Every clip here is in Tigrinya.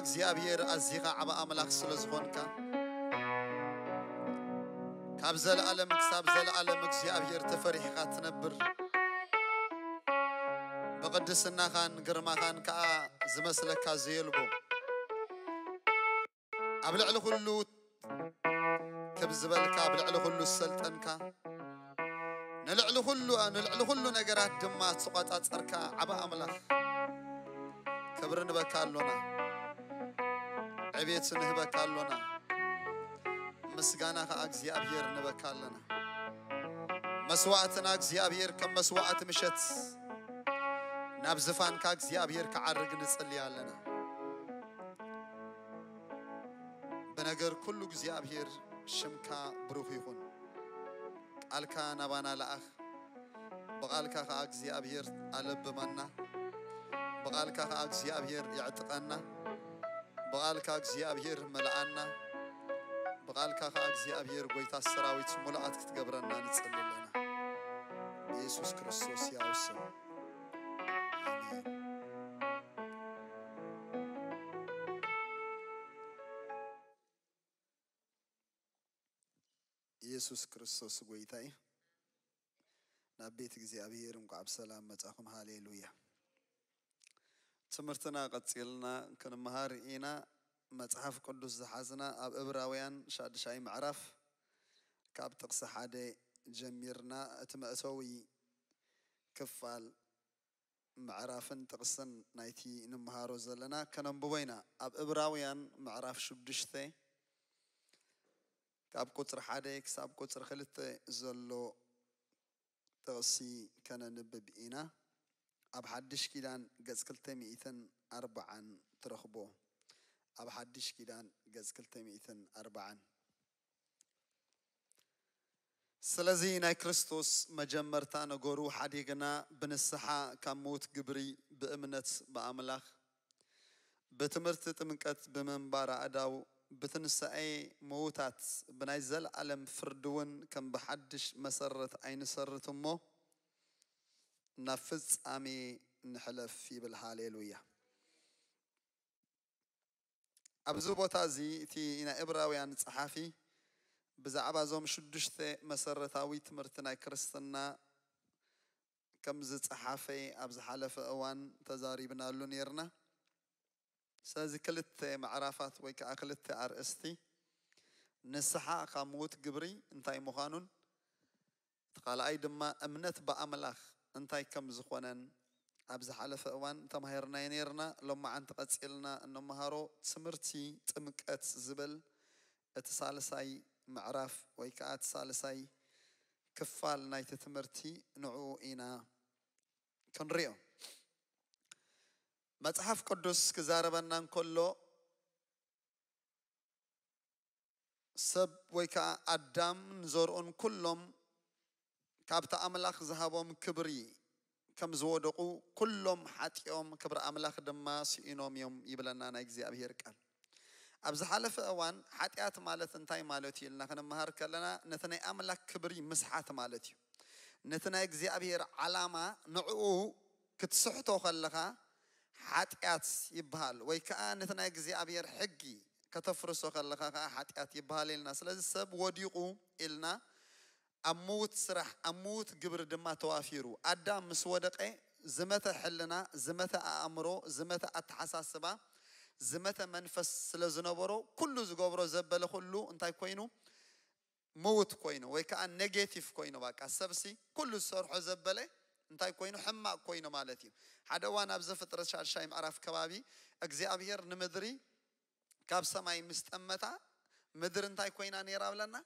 እግዚኣብሔር ኣዚኻ ዓቢ ኣምላኽ ስለ ዝኾንካ፣ ካብ ዘለኣለም ክሳብ ዘለኣለም እግዚኣብሔር ተፈሪሕኻ ትነብር። ብቕድስናኻን ግርማኻን ከኣ ዝመስለካ ዘየልቦ፣ ኣብ ልዕሊ ኩሉ ክብ ዝበልካ፣ ኣብ ልዕሊ ኩሉ ዝሰልጠንካ፣ ንልዕሊ ኩሉ፣ ንልዕሊ ኩሉ ነገራት ድማ ዝቆጻጸርካ ዓቢ ኣምላኽ፣ ክብሪ ንበካ ኣሎና፣ ዕቤት ንህበካ ኣሎና፣ ምስጋና ከኣ እግዚኣብሔር ንበካ ኣለና። መስዋዕትና እግዚኣብሔር ከም መስዋዕቲ ምሸት ናብ ዝፋንካ እግዚኣብሔር ክዓርግ ንጽሊ ኣለና። ብነገር ኩሉ እግዚኣብሔር ሽምካ ብሩኽ ይኹን። ቃልካ ናባና ለኣኽ። ብቓልካ ከኣ እግዚኣብሔር ኣለብመና። ብቓልካ ከኣ እግዚኣብሔር የዕጥቀና። ብቓልካ እግዚኣብሔር መልኣና። ብቓልካ ከኣ እግዚኣብሔር ጎይታ ሰራዊት ሙሉኣት ክትገብረና ንጽሊ ኣለና። ብየሱስ ክርስቶስ ሕያው ስም። ኣሜን። ኢየሱስ ክርስቶስ ጎይታ እዩ። ናብ ቤት እግዚኣብሔር እንቋዕ ብሰላም መጻኹም። ሃሌሉያ። ትምህርትና ቀጺልና ክንመሃር ኢና። መጽሓፍ ቅዱስ ዝሓዝና ኣብ ዕብራውያን ሻድሻይ ምዕራፍ ካብ ጥቕሲ ሓደ ጀሚርና እቲ መእተዊ ክፋል ምዕራፍን ጥቕስን ናይቲ ንምሃሮ ዘለና ከነንብቦ ኢና። ኣብ ዕብራውያን ምዕራፍ ሽዱሽተ ካብ ቁጽሪ ሓደ ክሳብ ቁጽሪ ክልተ ዘሎ ጥቕሲ ከነንብብ ኢና። ኣብ ሓድሽ ኪዳን ገጽ ክልተ ሚእትን ኣርባዓን ትረኽቦ። ኣብ ሓድሽ ኪዳን ገጽ ክልተ ሚእትን ኣርባዓን። ስለዚ ናይ ክርስቶስ መጀመርታ ነገሩ ሓዲግና ብንስሓ ካብ ምዉት ግብሪ ብእምነት ብኣምላኽ ብትምህርቲ ጥምቀት ብምንባር ኣእዳው ብትንሳኤ ምዉታት ብናይ ዘለኣለም ፍርዲ እውን ከም ብሓድሽ መሰረት ኣይንሰርት እሞ ናብ ፍጻሜ ንሕለፍ ይብል። ሃሌሉያ። ኣብዚ ቦታ እዚ እቲ ናይ ዕብራውያን ጸሓፊ ብዛዕባ እዞም ሽዱሽተ መሰረታዊ ትምህርቲ ናይ ክርስትና ከም ዝጸሓፈ ኣብ ዝሓለፈ እዋን ተዛሪብናሉ ነይርና። ስለዚ ክልተ ምዕራፋት ወይ ከዓ ክልተ ኣርእስቲ፣ ንስሓ ካብ ምዉት ግብሪ እንታይ ምዃኑን እቲ ካልኣይ ድማ እምነት ብኣምላኽ እንታይ ከም ዝኾነን ኣብ ዝሓለፈ እዋን ተማሂርናዮ ነይርና። ሎማዓንቲ ቀጺልና እንመሃሮ ትምህርቲ ጥምቀት ዝብል እቲ ሳልሳይ ምዕራፍ ወይ ከዓ እቲ ሳልሳይ ክፋል ናይቲ ትምህርቲ ንዕኡ ኢና ክንሪኦ። መጽሓፍ ቅዱስ ክዛረበና እንከሎ ሰብ ወይ ከዓ ኣዳም ንዘርኡን ኩሎም ካብቲ ኣምላኽ ዝሃቦም ክብሪ ከም ዝወደቑ ኩሎም ሓጢኦም ክብሪ ኣምላኽ ድማ ስኢኖም እዮም ይብለና ናይ እግዚኣብሔር ቃል። ኣብ ዝሓለፈ እዋን ሓጢኣት ማለት እንታይ ማለት እዩ ኢልና ክንመሃር ከለና ነቲ ናይ ኣምላኽ ክብሪ ምስሓት ማለት እዩ። ነቲ ናይ እግዚኣብሔር ዓላማ ንዕኡ ክትስሕቶ ከለኻ ሓጢኣት ይበሃል፣ ወይ ከዓ ነቲ ናይ እግዚኣብሔር ሕጊ ከተፍርሶ ከለኻ ከዓ ሓጢኣት ይበሃል ኢልና። ስለዚ ሰብ ወዲቑ ኢልና ኣብ ምዉት ስራሕ ኣብ ምዉት ግብሪ ድማ ተዋፊሩ። ኣዳም ምስ ወደቐ ዝመተ ሕልና፣ ዝመተ ኣእምሮ፣ ዝመተ ኣተሓሳስባ፣ ዝመተ መንፈስ ስለ ዝነበሮ ኩሉ ዝገብሮ ዘበለ ኩሉ እንታይ ኮይኑ? ምዉት ኮይኑ ወይ ከዓ ኔጌቲቭ ኮይኑ። ባቃ ሰብሲ ኩሉ ዝሰርሖ ዘበለ እንታይ ኮይኑ? ሕማቕ ኮይኑ ማለት እዩ። ሓደ እዋን ኣብ ዘፍጥረት ሻድሻይ ምዕራፍ ከባቢ እግዚኣብሔር ንምድሪ ካብ ሰማይ ምስ ጠመታ ምድሪ እንታይ ኮይና ነይራ ብለና?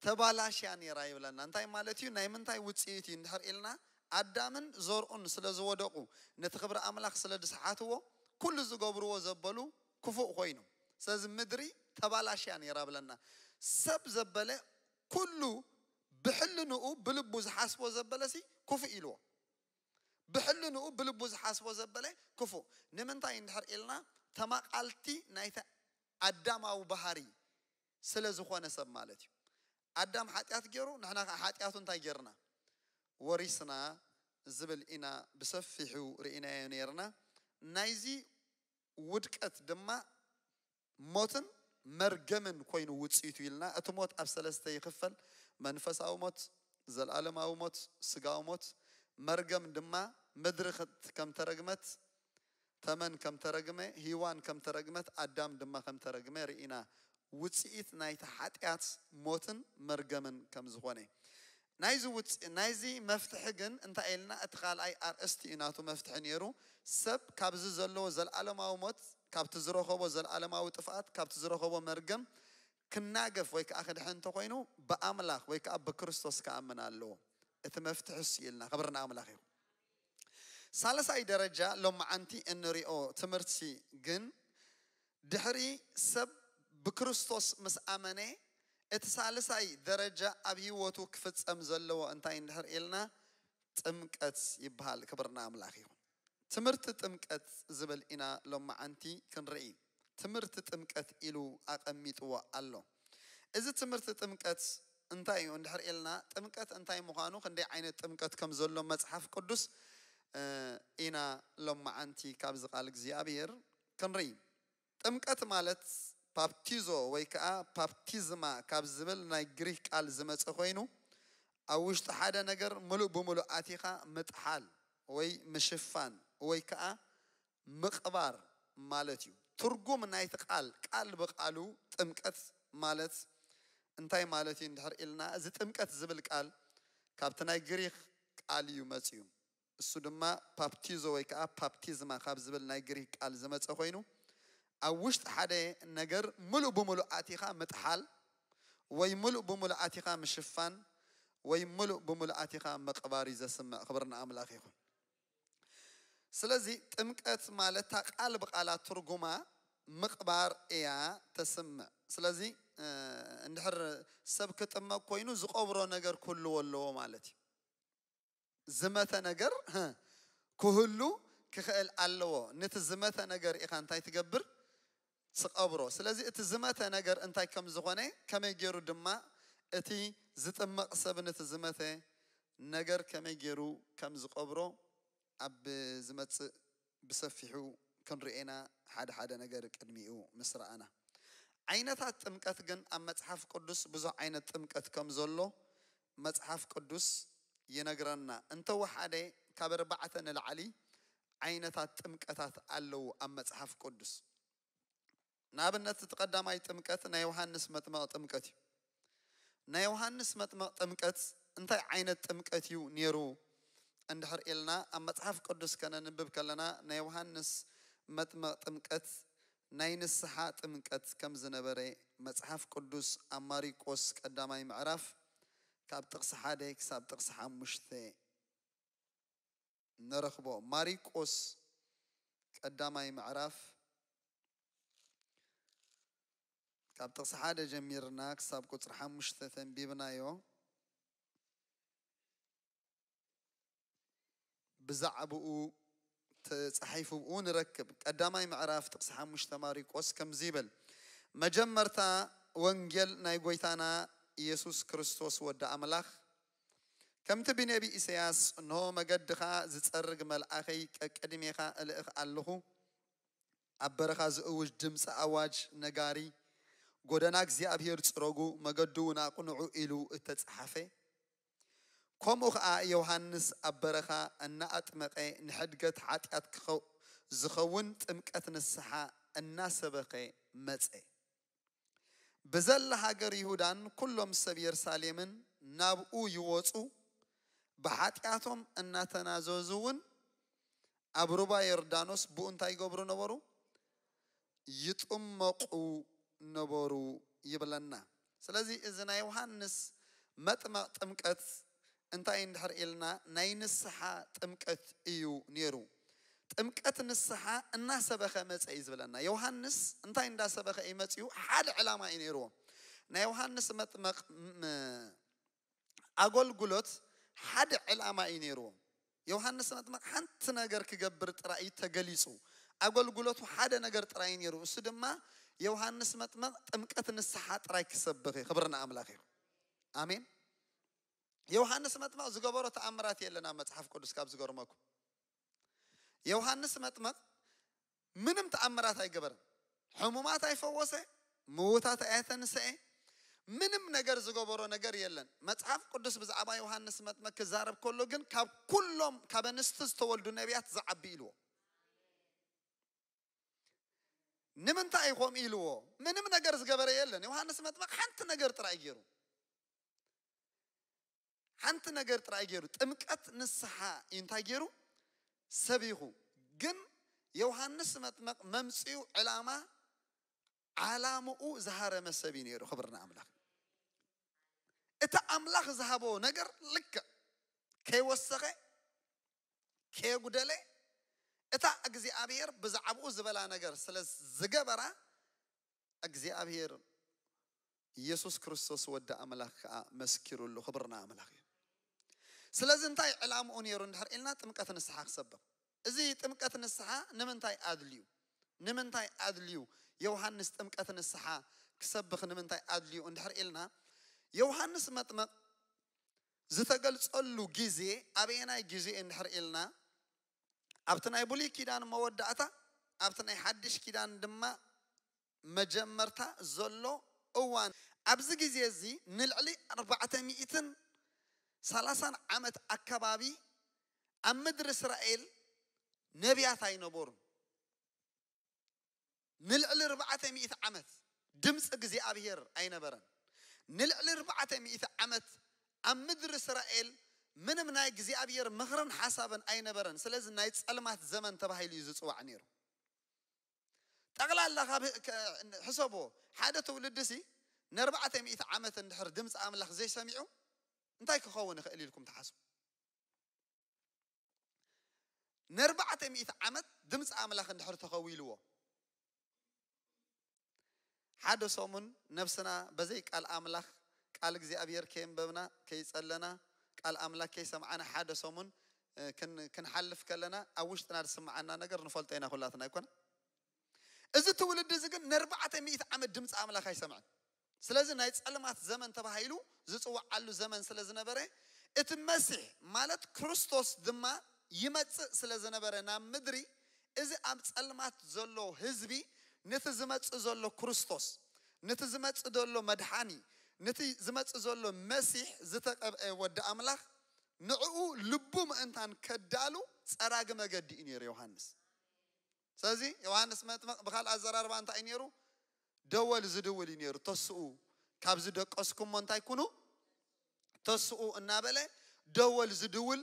ተባላሽያ ነይራ ይብለና። እንታይ ማለት እዩ? ናይ ምንታይ ውፅኢት እዩ እንድሕር ኢልና ኣዳምን ዘርኡን ስለ ዝወደቑ ነቲ ክብሪ ኣምላኽ ስለ ዝሰሓትዎ ኩሉ ዝገብርዎ ዘበሉ ክፉእ ኮይኑ። ስለዚ ምድሪ ተባላሽያ ነይራ ብለና። ሰብ ዘበለ ኩሉ ብሕልንኡ ብልቡ ዝሓስቦ ዘበለሲ ክፉእ ኢልዎ። ብሕልንኡ ብልቡ ዝሓስቦ ዘበለ ክፉእ። ንምንታይ እንድሕር ኢልና ተማቓልቲ ናይቲ ኣዳማዊ ባህሪ ስለ ዝኾነ ሰብ ማለት እዩ። ኣዳም ሓጢኣት ገይሩ ንሕና ከዓ ሓጢኣቱ እንታይ ገይርና? ወሪስና ዝብል ኢና ብሰፊሑ ርኢናዮ ነይርና። ናይዚ ውድቀት ድማ ሞትን መርገምን ኮይኑ ውፅኢቱ ኢልና። እቲ ሞት ኣብ ሰለስተ ይኽፈል። መንፈሳዊ ሞት፣ ዘላለማዊ ሞት፣ ስጋዊ ሞት። መርገም ድማ ምድሪ ከም ተረግመት፣ ተመን ከም ተረግመ፣ ሂዋን ከም ተረግመት፣ ኣዳም ድማ ከም ተረግመ ርኢና። ውፅኢት ናይቲ ሓጢኣት ሞትን መርገምን ከም ዝኾነ። ናይዚ ውፅ ናይዚ መፍትሒ ግን እንታይ ኢልና? እቲ ካልኣይ ኣርእስቲ እዩ ናቱ መፍትሒ ነይሩ። ሰብ ካብዚ ዘለዎ ዘላለማዊ ሞት፣ ካብቲ ዝረኸቦ ዘላለማዊ ጥፍኣት፣ ካብቲ ዝረኸቦ መርገም ክናገፍ ወይ ከዓ ክድሕን እንተኮይኑ፣ ብኣምላኽ ወይ ከዓ ብክርስቶስ ክኣምን ኣለዎ። እቲ መፍትሒ እሱ ኢልና። ክብሪ ንኣምላኽ ይኹን። ሳልሳይ ደረጃ ሎማዓንቲ እንሪኦ ትምህርቲ ግን፣ ድሕሪ ሰብ ብክርስቶስ ምስ ኣመነ፣ እቲ ሳልሳይ ደረጃ ኣብ ህይወቱ ክፍጸም ዘለዎ እንታይ እንድሕር ኢልና፣ ጥምቀት ይበሃል። ክብሪ ንኣምላኽ ይኹን። ትምህርቲ ጥምቀት ዝብል ኢና ሎማዓንቲ ክንርኢ። ትምህርቲ ጥምቀት ኢሉ ኣቐሚጥዎ ኣሎ። እዚ ትምህርቲ ጥምቀት እንታይ እዩ እንድሕር ኢልና፣ ጥምቀት እንታይ ምዃኑ፣ ክንደይ ዓይነት ጥምቀት ከም ዘሎ መጽሓፍ ቅዱስ፣ እ፣ ኢና ሎማዓንቲ ካብዚ ቃል እግዚኣብሔር ክንርኢ። ጥምቀት ማለት ፓፕቲዞ ወይ ከዓ ፓፕቲዝማ ካብ ዝብል ናይ ግሪክ ቃል ዝመጸ ኮይኑ፣ ኣብ ውሽጢ ሓደ ነገር ምሉእ ብምሉእ ኣቲኻ ምጥሓል ወይ ምሽፋን ወይ ከዓ ምቕባር ማለት እዩ። ትርጉም ናይቲ ቃል፣ ቃል ብቃሉ ጥምቀት ማለት እንታይ ማለት እዩ እንድሕር ኢልና፣ እዚ ጥምቀት ዝብል ቃል ካብቲ ናይ ግሪክ ቃል እዩ መፅዩ። እሱ ድማ ፓፕቲዞ ወይ ከዓ ፓፕቲዝማ ካብ ዝብል ናይ ግሪክ ቃል ዝመፀ ኮይኑ፣ ኣብ ውሽጢ ሓደ ነገር ምሉእ ብምሉእ ኣቲኻ ምጥሓል ወይ ምሉእ ብምሉእ ኣቲኻ ምሽፋን ወይ ምሉእ ብምሉእ ኣቲኻ ምቕባር እዩ ዘስምዕ። ክብሪ ንኣምላኽ ይኹን። ስለዚ ጥምቀት ማለት እታ ቃል ብቃላ ትርጉማ ምቕባር እያ ተስምዕ። ስለዚ፣ እ፣ እንድሕር ሰብ ክጥመቅ ኮይኑ ዝቐብሮ ነገር ክህልዎ ኣለዎ ማለት እዩ። ዝመተ ነገር፣ እ፣ ክህሉ ክኽእል ኣለዎ። ነቲ ዝመተ ነገር ኢኻ እንታይ ትገብር? ትቐብሮ። ስለዚ እቲ ዝመተ ነገር እንታይ ከም ዝኾነ፣ ከመይ ገይሩ ድማ እቲ ዝጥመቕ ሰብ ነቲ ዝመተ ነገር ከመይ ገይሩ ከም ዝቐብሮ ኣብ ዝመጽእ ብሰፊሑ ክንርእዮ ኢና፣ ሓደ ሓደ ነገር ቅድሚኡ ምስ ረኣና። ዓይነታት ጥምቀት ግን ኣብ መጽሓፍ ቅዱስ ብዙሕ ዓይነት ጥምቀት ከም ዘሎ መጽሓፍ ቅዱስ ይነግረና። እንተወሓደ ካብ ኣርባዕተ ንላዕሊ ዓይነታት ጥምቀታት ኣለዉ ኣብ መጽሓፍ ቅዱስ። ንኣብነት፣ እቲ ቀዳማይ ጥምቀት ናይ ዮሃንስ መጥመቕ ጥምቀት እዩ። ናይ ዮሃንስ መጥመቕ ጥምቀት እንታይ ዓይነት ጥምቀት እዩ ነይሩ እንድሕር ኢልና፣ ኣብ መጽሓፍ ቅዱስ ከነንብብ ከለና፣ ናይ ዮሃንስ መጥመቕ ጥምቀት ናይ ንስሓ ጥምቀት ከም ዝነበረ መጽሓፍ ቅዱስ ኣብ ማሪቆስ ቀዳማይ ምዕራፍ ካብ ጥቕሲ ሓደ ክሳብ ጥቕሲ ሓሙሽተ ንረኽቦ። ማሪቆስ ቀዳማይ ምዕራፍ ካብ ጥቕሲ ሓደ ጀሚርና ክሳብ ቁጽሪ ሓሙሽተ ተንቢብናዮ። ብዛዕባኡ ተጻሒፉ ብኡ ንረክብ። ቀዳማይ ምዕራፍ ጥቕሲ ሓሙሽተ ማሪቆስ ከምዚ ይብል፣ መጀመርታ ወንጌል ናይ ጎይታና ኢየሱስ ክርስቶስ ወዲ ኣምላኽ፣ ከምቲ ብነቢ ኢሳያስ፣ "እንሆ መገድኻ ዝጸርግ መልኣኸይ ቀቅድሜኻ እልእኽ ኣለኹ፣ ኣብ በረኻ ዝእውጅ ድምፂ ኣዋጅ ነጋሪ፣ ጎደና እግዚኣብሔር ጽረጉ፣ መገዱ እውን ኣቕንዑ" ኢሉ እተጻሓፈ፣ ከምኡ ኸኣ ዮሃንስ ኣብ በረኻ እናኣጥመቐ ንሕድገት ሓጢኣት ክኸው-፣ ዝኸውን ጥምቀት ንስሓ እናሰበኸ መጸ። ብዘላ ሃገር ይሁዳን ኩሎም ሰብ የሩሳሌምን ናብኡ ይወጹ፣ ብሓጢኣቶም እናተናዘዙ እውን ኣብ ሩባ ዮርዳኖስ ብኡ እንታይ ይገብሩ ነበሩ? ይጥመቑ ነበሩ ይብለና። ስለዚ እዚ ናይ ዮሃንስ መጥመቕ ጥምቀት እንታይ እንድሕር ኢልና፣ ናይ ንስሓ ጥምቀት እዩ ነይሩ። ጥምቀት ንስሓ እናሰበኸ መጸ እዩ ዝብለና። ዮሃንስ እንታይ እንዳሰበኸ እዩ መጺኡ? ሓደ ዕላማ እዩ ነይርዎ። ናይ ዮሃንስ መጥመቕ ም-፣ ኣገልግሎት ሓደ ዕላማ እዩ ነይርዎ። ዮሃንስ መጥመቕ ሓንቲ ነገር ክገብር ጥራይ እዩ ተገሊጹ። ኣገልግሎቱ ሓደ ነገር ጥራይ እዩ ነይሩ። እሱ ድማ ዮሃንስ መጥመቕ ጥምቀት ንስሓ ጥራይ ክሰብኽ እዩ። ክብሪ ንኣምላኽ እዩ። ኣሜን። ዮሃንስ መጥመቕ ዝገበሮ ተኣምራት የለን ኣብ መጽሓፍ ቅዱስ። ካብ ዝገርመኩም፣ ዮሃንስ መጥመቕ ምንም ተኣምራት ኣይገበረን። ሕሙማት ኣይፈወሰ፣ ምዉታት ኣየተንሰኤ፣ ምንም ነገር ዝገበሮ ነገር የለን። መጽሓፍ ቅዱስ ብዛዕባ ዮሃንስ መጥመቅ ክዛረብ ከሎ ግን ካብ ኩሎም ካብ ኣንስቲ ዝተወልዱ ነቢያት ዝዓቢ ኢልዎ። ንምንታይ ከምኡ ኢልዎ? ምንም ነገር ዝገበረ የለን። ዮሃንስ መጥመቅ ሓንቲ ነገር ጥራይ ገይሩ፣ ሓንቲ ነገር ጥራይ ገይሩ፣ ጥምቀት ንስሓ እዩ። እንታይ ገይሩ? ሰቢኹ። ግን ዮሃንስ መጥመቅ መምፅኡ ዕላማ፣ ዓላምኡ ዝሃረመ ሰብ እዩ ነይሩ። ክብርና ኣምላኽ። እቲ ኣምላኽ ዝሃቦ ነገር ልክዕ ከይወሰኸ ከየጉደለ፣ እታ እግዚኣብሔር ብዛዕባኡ ዝበላ ነገር ስለ ዝገበራ፣ እግዚኣብሔር ኢየሱስ ክርስቶስ ወዲ ኣምላኽ ከዓ መስኪሩሉ። ክብርና ኣምላኽ እዩ። ስለዚ እንታይ ዕላምኡ ነይሩ እንድሕር ኢልና፣ ጥምቀት ንስሓ ክሰብኽ። እዚ ጥምቀት ንስሓ ንምንታይ ኣድልዩ? ንምንታይ ኣድልዩ? ዮሃንስ ጥምቀት ንስሓ ክሰብኽ ንምንታይ ኣድልዩ እንድሕር ኢልና፣ ዮሃንስ መጥመቕ ዝተገልጸሉ ግዜ ኣበየናይ ግዜ እንድሕር ኢልና፣ ኣብቲ ናይ ብሉይ ኪዳን መወዳእታ፣ ኣብቲ ናይ ሓድሽ ኪዳን ድማ መጀመርታ ዘሎ እዋን። ኣብዚ ግዜ እዚ ንልዕሊ ኣርባዕተ ሚእትን ሰላሳን ዓመት ኣከባቢ ኣብ ምድሪ እስራኤል ነቢያት ኣይነበሩን። ንልዕሊ ኣርባዕተ ሚእቲ ዓመት ድምፂ እግዚኣብሔር ኣይነበረን። ንልዕሊ ኣርባዕተ ሚእቲ ዓመት ኣብ ምድሪ እስራኤል ምንም ናይ እግዚኣብሔር ምኽርን ሓሳብን ኣይነበረን። ስለዚ ናይ ጸልማት ዘመን ተባሂሉ እዩ ዝጽዋዕ ነይሩ። ጠቕላላ ካብ ህ- ከ- ሕሰቦ፣ ሓደ ትውልዲ ሲ ንኣርባዕተ ሚእቲ ዓመት እንድሕር ድምፂ ኣምላኽ ዘይሰሚዑ እንታይ ክኸውን ይኽእል ኢልኩም ትሓስቡ? ንኣርባዕተ ሚእቲ ዓመት ድምፂ ኣምላኽ እንድሕር ተኸዊልዎ፣ ሓደ ሰሙን ነብስና በዘይ ቃል ኣምላኽ፣ ቃል እግዚኣብሔር ከየንበብና፣ ከይጸለና፣ ቃል ኣምላኽ ከይሰምዓና ሓደ ሰሙን እ፣ ክን- ክንሓልፍ ከለና ኣብ ውሽጥና ዝስምዓና ነገር ንፈልጦ ኢና ኩላትና ኣይኮነ? እዚ ትውልዲ እዚ ግን ንኣርባዕተ ሚእቲ ዓመት ድምፂ ኣምላኽ ኣይሰምዐን። ስለዚ ናይ ጸልማት ዘመን ተባሂሉ ዝጽውዓሉ ዘመን ስለ ዝነበረ፣ እቲ መሲሕ ማለት ክርስቶስ ድማ ይመጽእ ስለ ዝነበረ ናብ ምድሪ፣ እዚ ኣብ ጸልማት ዘሎ ህዝቢ ነቲ ዝመጽእ ዘሎ ክርስቶስ፣ ነቲ ዝመጽእ ዘሎ መድሓኒ፣ ነቲ ዝመጽእ ዘሎ መሲሕ ዝተቀብአ ወዲ ኣምላኽ፣ ንዕኡ ልቡ ምእንታን ከዳሉ ጸራጊ መገዲ እዩ ነይሩ ዮሃንስ። ስለዚ ዮሃንስ መጥምቕ ብኻልእ ኣዘራርባ እንታይ እዩ ነይሩ? ደወል ዝድውል እዩ ነይሩ። ተስኡ፣ ካብ ዝደቀስኩሞ እንታይ ኩኑ? ተስኡ እናበለ ደወል ዝድውል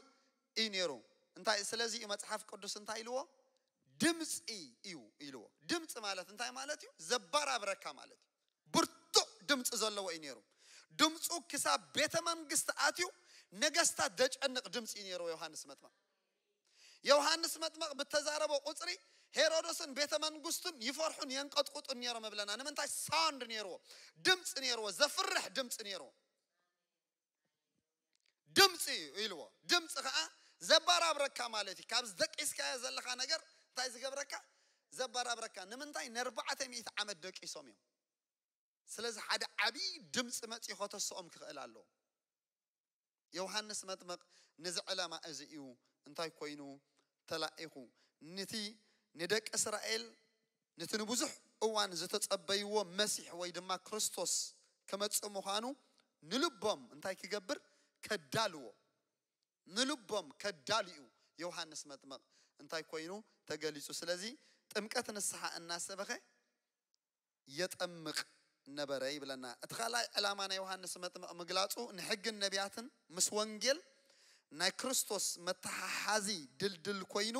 እዩ ነይሩ። እንታይ፣ ስለዚ እዩ መጽሓፍ ቅዱስ እንታይ ኢልዎ? ድምፂ እዩ ኢልዎ። ድምፂ ማለት እንታይ ማለት እዩ? ዘባራብረካ ማለት እዩ። ብርቱዕ ድምፂ ዘለዎ እዩ ነይሩ። ድምፁ ክሳብ ቤተ መንግስቲ ኣትዩ ነገስታት ደጨንቕ ድምፂ እዩ ነይርዎ ዮሃንስ መጥምቕ። ዮሃንስ መጥምቕ ብተዛረቦ ቁፅሪ ሄሮዶስን ቤተ መንግስቱን ይፈርሑን የንቀጥቁጡን ነይሮም እብለና። ንምንታይ? ሳውንድ ነይርዎ፣ ድምፂ ነይርዎ፣ ዘፍርሕ ድምፂ ነይርዎ። ድምፂ እዩ ኢልዎ። ድምፂ ከዓ ዘባራብረካ ማለት እዩ። ካብ ዝደቂስካዮ ዘለኻ ነገር እንታይ ዝገብረካ? ዘባራብረካ። ንምንታይ? ንኣርባዕተ ሚእቲ ዓመት ደቂሶም እዮም። ስለዚ ሓደ ዓብዪ ድምፂ መፂኡ ከተስኦም ክኽእል ኣለዎ። ዮሃንስ መጥምቕ ነዚ ዕላማ እዚ እዩ እንታይ ኮይኑ ተላኢኹ? ነቲ ንደቂ እስራኤል ነቲ ንብዙሕ እዋን ዝተጸበይዎ መሲሕ ወይ ድማ ክርስቶስ ክመጽእ ምዃኑ ንልቦም እንታይ ክገብር? ከዳልዎ። ንልቦም ከዳልዩ ዮሃንስ መጥምቕ እንታይ ኮይኑ ተገሊጹ? ስለዚ ጥምቀት ንስሓ እናሰበኸ የጠምቕ ነበረ ይብለና። እቲ ካልኣይ ዕላማ ናይ ዮሃንስ መጥምቕ ምግላጹ ንሕግን ነቢያትን ምስ ወንጌል ናይ ክርስቶስ መተሓሓዚ ድልድል ኮይኑ፣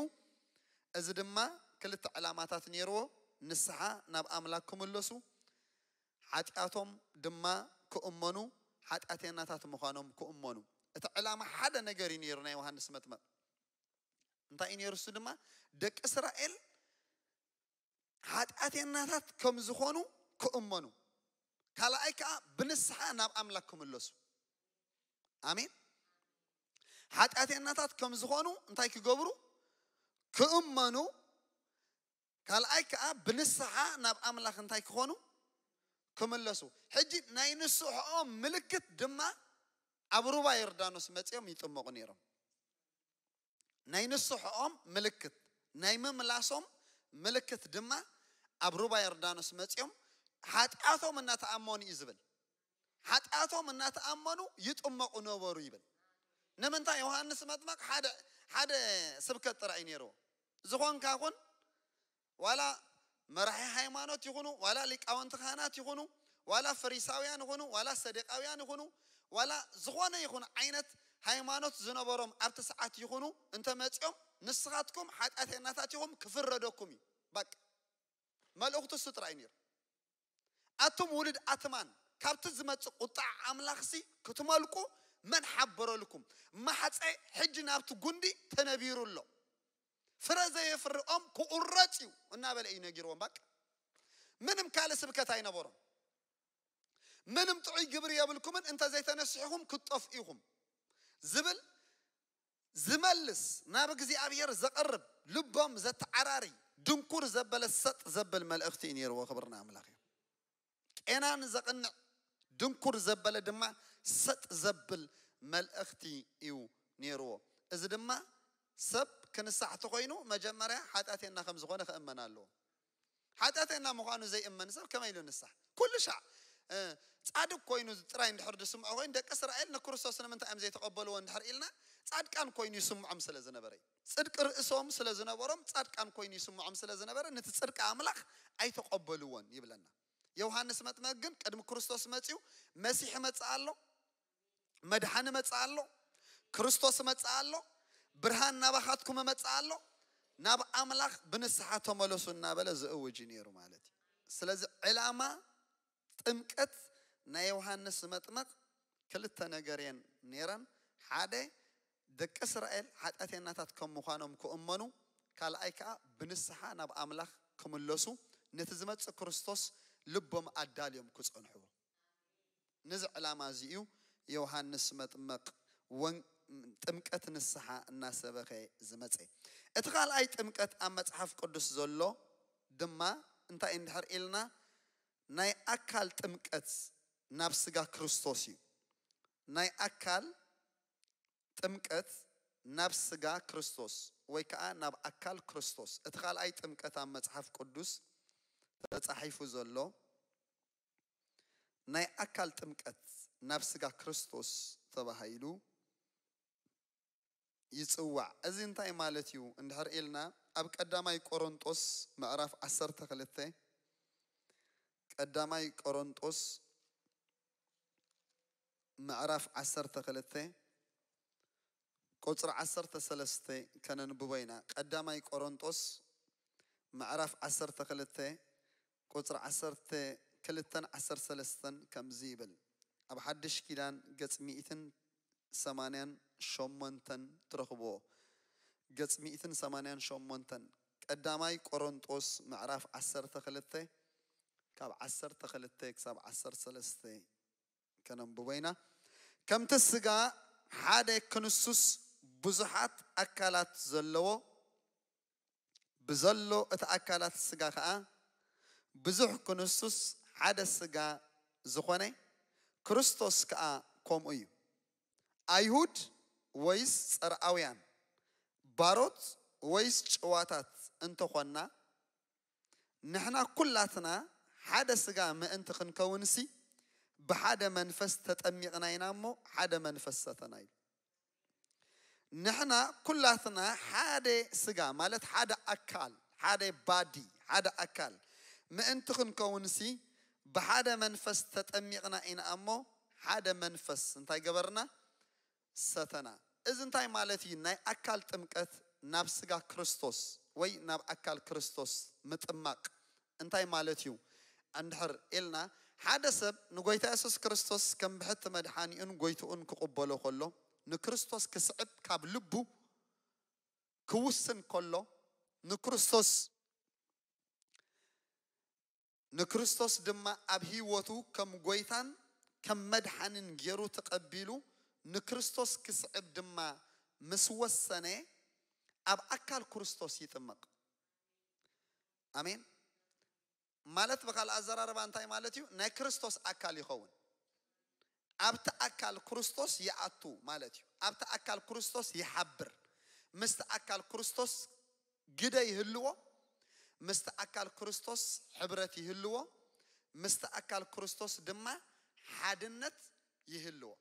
እዚ ድማ ክልተ ዕላማታት ነይርዎ። ንስሓ ናብ ኣምላክ ክምለሱ፣ ሓጢኣቶም ድማ ክእመኑ፣ ሓጢኣተኛታት ምዃኖም ክእመኑ። እቲ ዕላማ ሓደ ነገር እዩ ነይሩ ናይ ዮሃንስ መጥምቕ። እንታይ እዩ ነይሩ? እሱ ድማ ደቂ እስራኤል ሓጢኣተኛታት ከም ዝኾኑ ክእመኑ፣ ካልኣይ ከዓ ብንስሓ ናብ ኣምላክ ክምለሱ። ኣሜን። ሓጢኣተኛታት ከም ዝኾኑ እንታይ ክገብሩ? ክእመኑ። ካልኣይ ከዓ ብንስሓ ናብ ኣምላክ እንታይ ክኾኑ? ክምለሱ። ሕጂ ናይ ንስሕኦም ምልክት ድማ ኣብ ሩባ ዮርዳኖስ መፂኦም ይጥመቑ ነይሮም። ናይ ንስሕኦም ምልክት፣ ናይ ምምላሶም ምልክት ድማ ኣብ ሩባ ዮርዳኖስ መጺኦም ሓጢኣቶም እናተኣመኑ እዩ ዝብል። ሓጢኣቶም እናተኣመኑ ይጥመቑ ነበሩ ይብል። ንምንታይ? ዮሃንስ መጥመቕ ሓደ ሓደ ስብከት ጥራይ እዩ ነይርዎ። ዝኾንካ ኩን፣ ዋላ መራሒ ሃይማኖት ይኹኑ፣ ዋላ ሊቃውንቲ ካህናት ይኹኑ፣ ዋላ ፈሪሳውያን ይኹኑ፣ ዋላ ሰደቃውያን ይኹኑ፣ ዋላ ዝኾነ ይኹን ዓይነት ሃይማኖት ዝነበሮም ኣብቲ ሰዓት ይኹኑ፣ እንተመጺኦም ንስኻትኩም ሓጢኣተኛታት ኢኹም፣ ክፍረደኩም እዩ። በቃ። መልእኽቱ እሱ ጥራይ ነይሩ። ኣቱም ውሉድ ኣትማን፣ ካብቲ ዝመጽእ ቁጣዕ ኣምላኽሲ ክትመልቁ መን ሓበረልኩም? ማሕጸ ሕጂ ናብቲ ጉንዲ ተነቢሩ ኣሎ። ፍረ ዘየፍርኦም ክቑረጽ እዩ እናበለ እዩ ነጊርዎም። በቃ። ምንም ካልእ ስብከት ኣይነበሮም። ምንም ጥዑይ ግብሪ የብልኩምን፣ እንተ ዘይተነሲሕኹም ክትጠፍኡ ኢኹም ዝብል ዝመልስ፣ ናብ እግዚኣብሔር ዘቐርብ፣ ልቦም ዘተዓራሪ፣ ድንኩር ዘበለ ሰጥ ዘብል መልእኽቲ እዩ ነይርዎ። ክብርና ኣምላኽ እዩ። ቄናን ዘቕንዕ፣ ድንኩር ዘበለ ድማ ሰጥ ዘብል መልእኽቲ እዩ ነይርዎ። እዚ ድማ ሰብ ክንሳሕ ተኾይኑ መጀመርያ ሓጢኣተና ከም ዝኾነ ክእመን ኣለዎ። ሓጢኣተና ምዃኑ ዘይእመን ሰብ ከመይ ኢሉ ንሳሕ? ኩሉ ሻዕ እ፣ ጻድቅ ኮይኑ ጥራይ እንድሕር ዝስምዖ ኮይኑ፣ ደቂ እስራኤል ንክርስቶስ ንምንታይ እዮም ዘይተቐበልዎ እንድሕር ኢልና፣ ጻድቃን ኮይኑ ይስምዖም ስለ ዝነበረ እዩ። ጽድቂ ርእሶም ስለ ዝነበሮም፣ ጻድቃን ኮይኑ ይስምዖም ስለ ዝነበረ፣ ነቲ ጽድቂ ኣምላኽ ኣይተቐበልዎን ይብለና። ዮሃንስ መጥመቅ ግን ቅድሚ ክርስቶስ መጺኡ፣ መሲሕ መጽእ ኣሎ፣ መድሓኒ መጽእ ኣሎ፣ ክርስቶስ መጽእ ኣሎ፣ ብርሃን ናባኻትኩም መጽእ ኣሎ፣ ናብ ኣምላኽ ብንስሓ ተመለሱ እናበለ ዝእውጅ እዩ ነይሩ ማለት እዩ። ስለዚ ዕላማ ጥምቀት ናይ ዮሃንስ መጥመቕ ክልተ ነገር እየን ነይረን። ሓደ፣ ደቂ እስራኤል ሓጢኣተኛታት ከም ምዃኖም ክእመኑ፣ ካልኣይ ከኣ ብንስሓ ናብ ኣምላኽ ክምለሱ፣ ነቲ ዝመጽእ ክርስቶስ ልቦም ኣዳልዮም ክጸንሕዎ። ነዚ ዕላማ እዚ እዩ ዮሃንስ መጥመቕ ወን-፣ ጥምቀት ንስሓ እናሰበኸ ዝመጸ። እቲ ካልኣይ ጥምቀት ኣብ መጽሓፍ ቅዱስ ዘሎ ድማ እንታይ እንድሕር ኢልና፣ ናይ ኣካል ጥምቀት ናብ ስጋ ክርስቶስ እዩ። ናይ ኣካል ጥምቀት ናብ ስጋ ክርስቶስ ወይ ከኣ ናብ ኣካል ክርስቶስ። እቲ ካልኣይ ጥምቀት ኣብ መጽሓፍ ቅዱስ ተጻሒፉ ዘሎ ናይ ኣካል ጥምቀት ናብ ስጋ ክርስቶስ ተባሂሉ ይጽዋዕ። እዚ እንታይ ማለት እዩ እንድሕር ኢልና፣ ኣብ ቀዳማይ ቆሮንጦስ ምዕራፍ ዓሰርተ ክልተ፣ ቀዳማይ ቆሮንጦስ ምዕራፍ ዓሰርተ ክልተ ቁጽሪ ዓሰርተ ሰለስተ ከነንብቦ ኢና። ቀዳማይ ቆሮንጦስ ምዕራፍ ዓሰርተ ክልተ ቁጽሪ ዓሰርተ ክልተን ዓሰርተ ሰለስተን ከምዚ ይብል። ኣብ ሓድሽ ኪዳን ገጽ ሚእትን ሰማንያን ሸሞንተን ትረኽብዎ። ገጽ ሚእትን ሰማንያን ሸሞንተን፣ ቀዳማይ ቆሮንጦስ ምዕራፍ ዓሰርተ ክልተ ካብ ዓሰርተ ክልተ ክሳብ ዓሰርተ ሰለስተ ከነንብቦ ኢና። ከምቲ ስጋ ሓደ ክንሱስ ብዙሓት ኣካላት ዘለዎ፣ ብዘሎ እቲ ኣካላት ስጋ ከኣ ብዙሕ ክንሱስ ሓደ ስጋ ዝኾነ፣ ክርስቶስ ከኣ ከምኡ እዩ። ኣይሁድ ወይስ ጸርኣውያን፣ ባሮት ወይስ ጭዋታት እንተኾንና፣ ንሕና ኩላትና ሓደ ስጋ ምእንቲ ክንከውንሲ፣ ብሓደ መንፈስ ተጠሚቕና ኢና እሞ፣ ሓደ መንፈስ ሰተና እዩ። ንሕና ኩላትና ሓደ ስጋ፣ ማለት ሓደ ኣካል፣ ሓደ ባዲ፣ ሓደ ኣካል ምእንቲ ክንከውንሲ፣ ብሓደ መንፈስ ተጠሚቕና ኢና እሞ፣ ሓደ መንፈስ እንታይ ገበርና? ሰተና። እዚ እንታይ ማለት እዩ? ናይ ኣካል ጥምቀት ናብ ስጋ ክርስቶስ ወይ ናብ ኣካል ክርስቶስ ምጥማቕ እንታይ ማለት እዩ? እንድሕር ኢልና፣ ሓደ ሰብ ንጎይታ የሱስ ክርስቶስ ከም ብሕቲ መድሓኒኡን ጎይትኡን ክቕበሎ ከሎ፣ ንክርስቶስ ክስዕብ ካብ ልቡ ክውስን ከሎ፣ ንክርስቶስ ንክርስቶስ ድማ ኣብ ህይወቱ ከም ጎይታን ከም መድሓንን ገይሩ ተቐቢሉ፣ ንክርስቶስ ክስዕብ ድማ ምስ ወሰነ፣ ኣብ ኣካል ክርስቶስ ይጥመቕ። ኣሜን። ማለት ብኻልእ ኣዘራርባ እንታይ ማለት እዩ? ናይ ክርስቶስ ኣካል ይኸውን። ኣብቲ ኣካል ክርስቶስ ይኣቱ ማለት እዩ። ኣብቲ ኣካል ክርስቶስ ይሓብር። ምስቲ ኣካል ክርስቶስ ግደ ይህልዎ። ምስቲ ኣካል ክርስቶስ ሕብረት ይህልዎ፣ ምስቲ ኣካል ክርስቶስ ድማ ሓድነት ይህልዎ።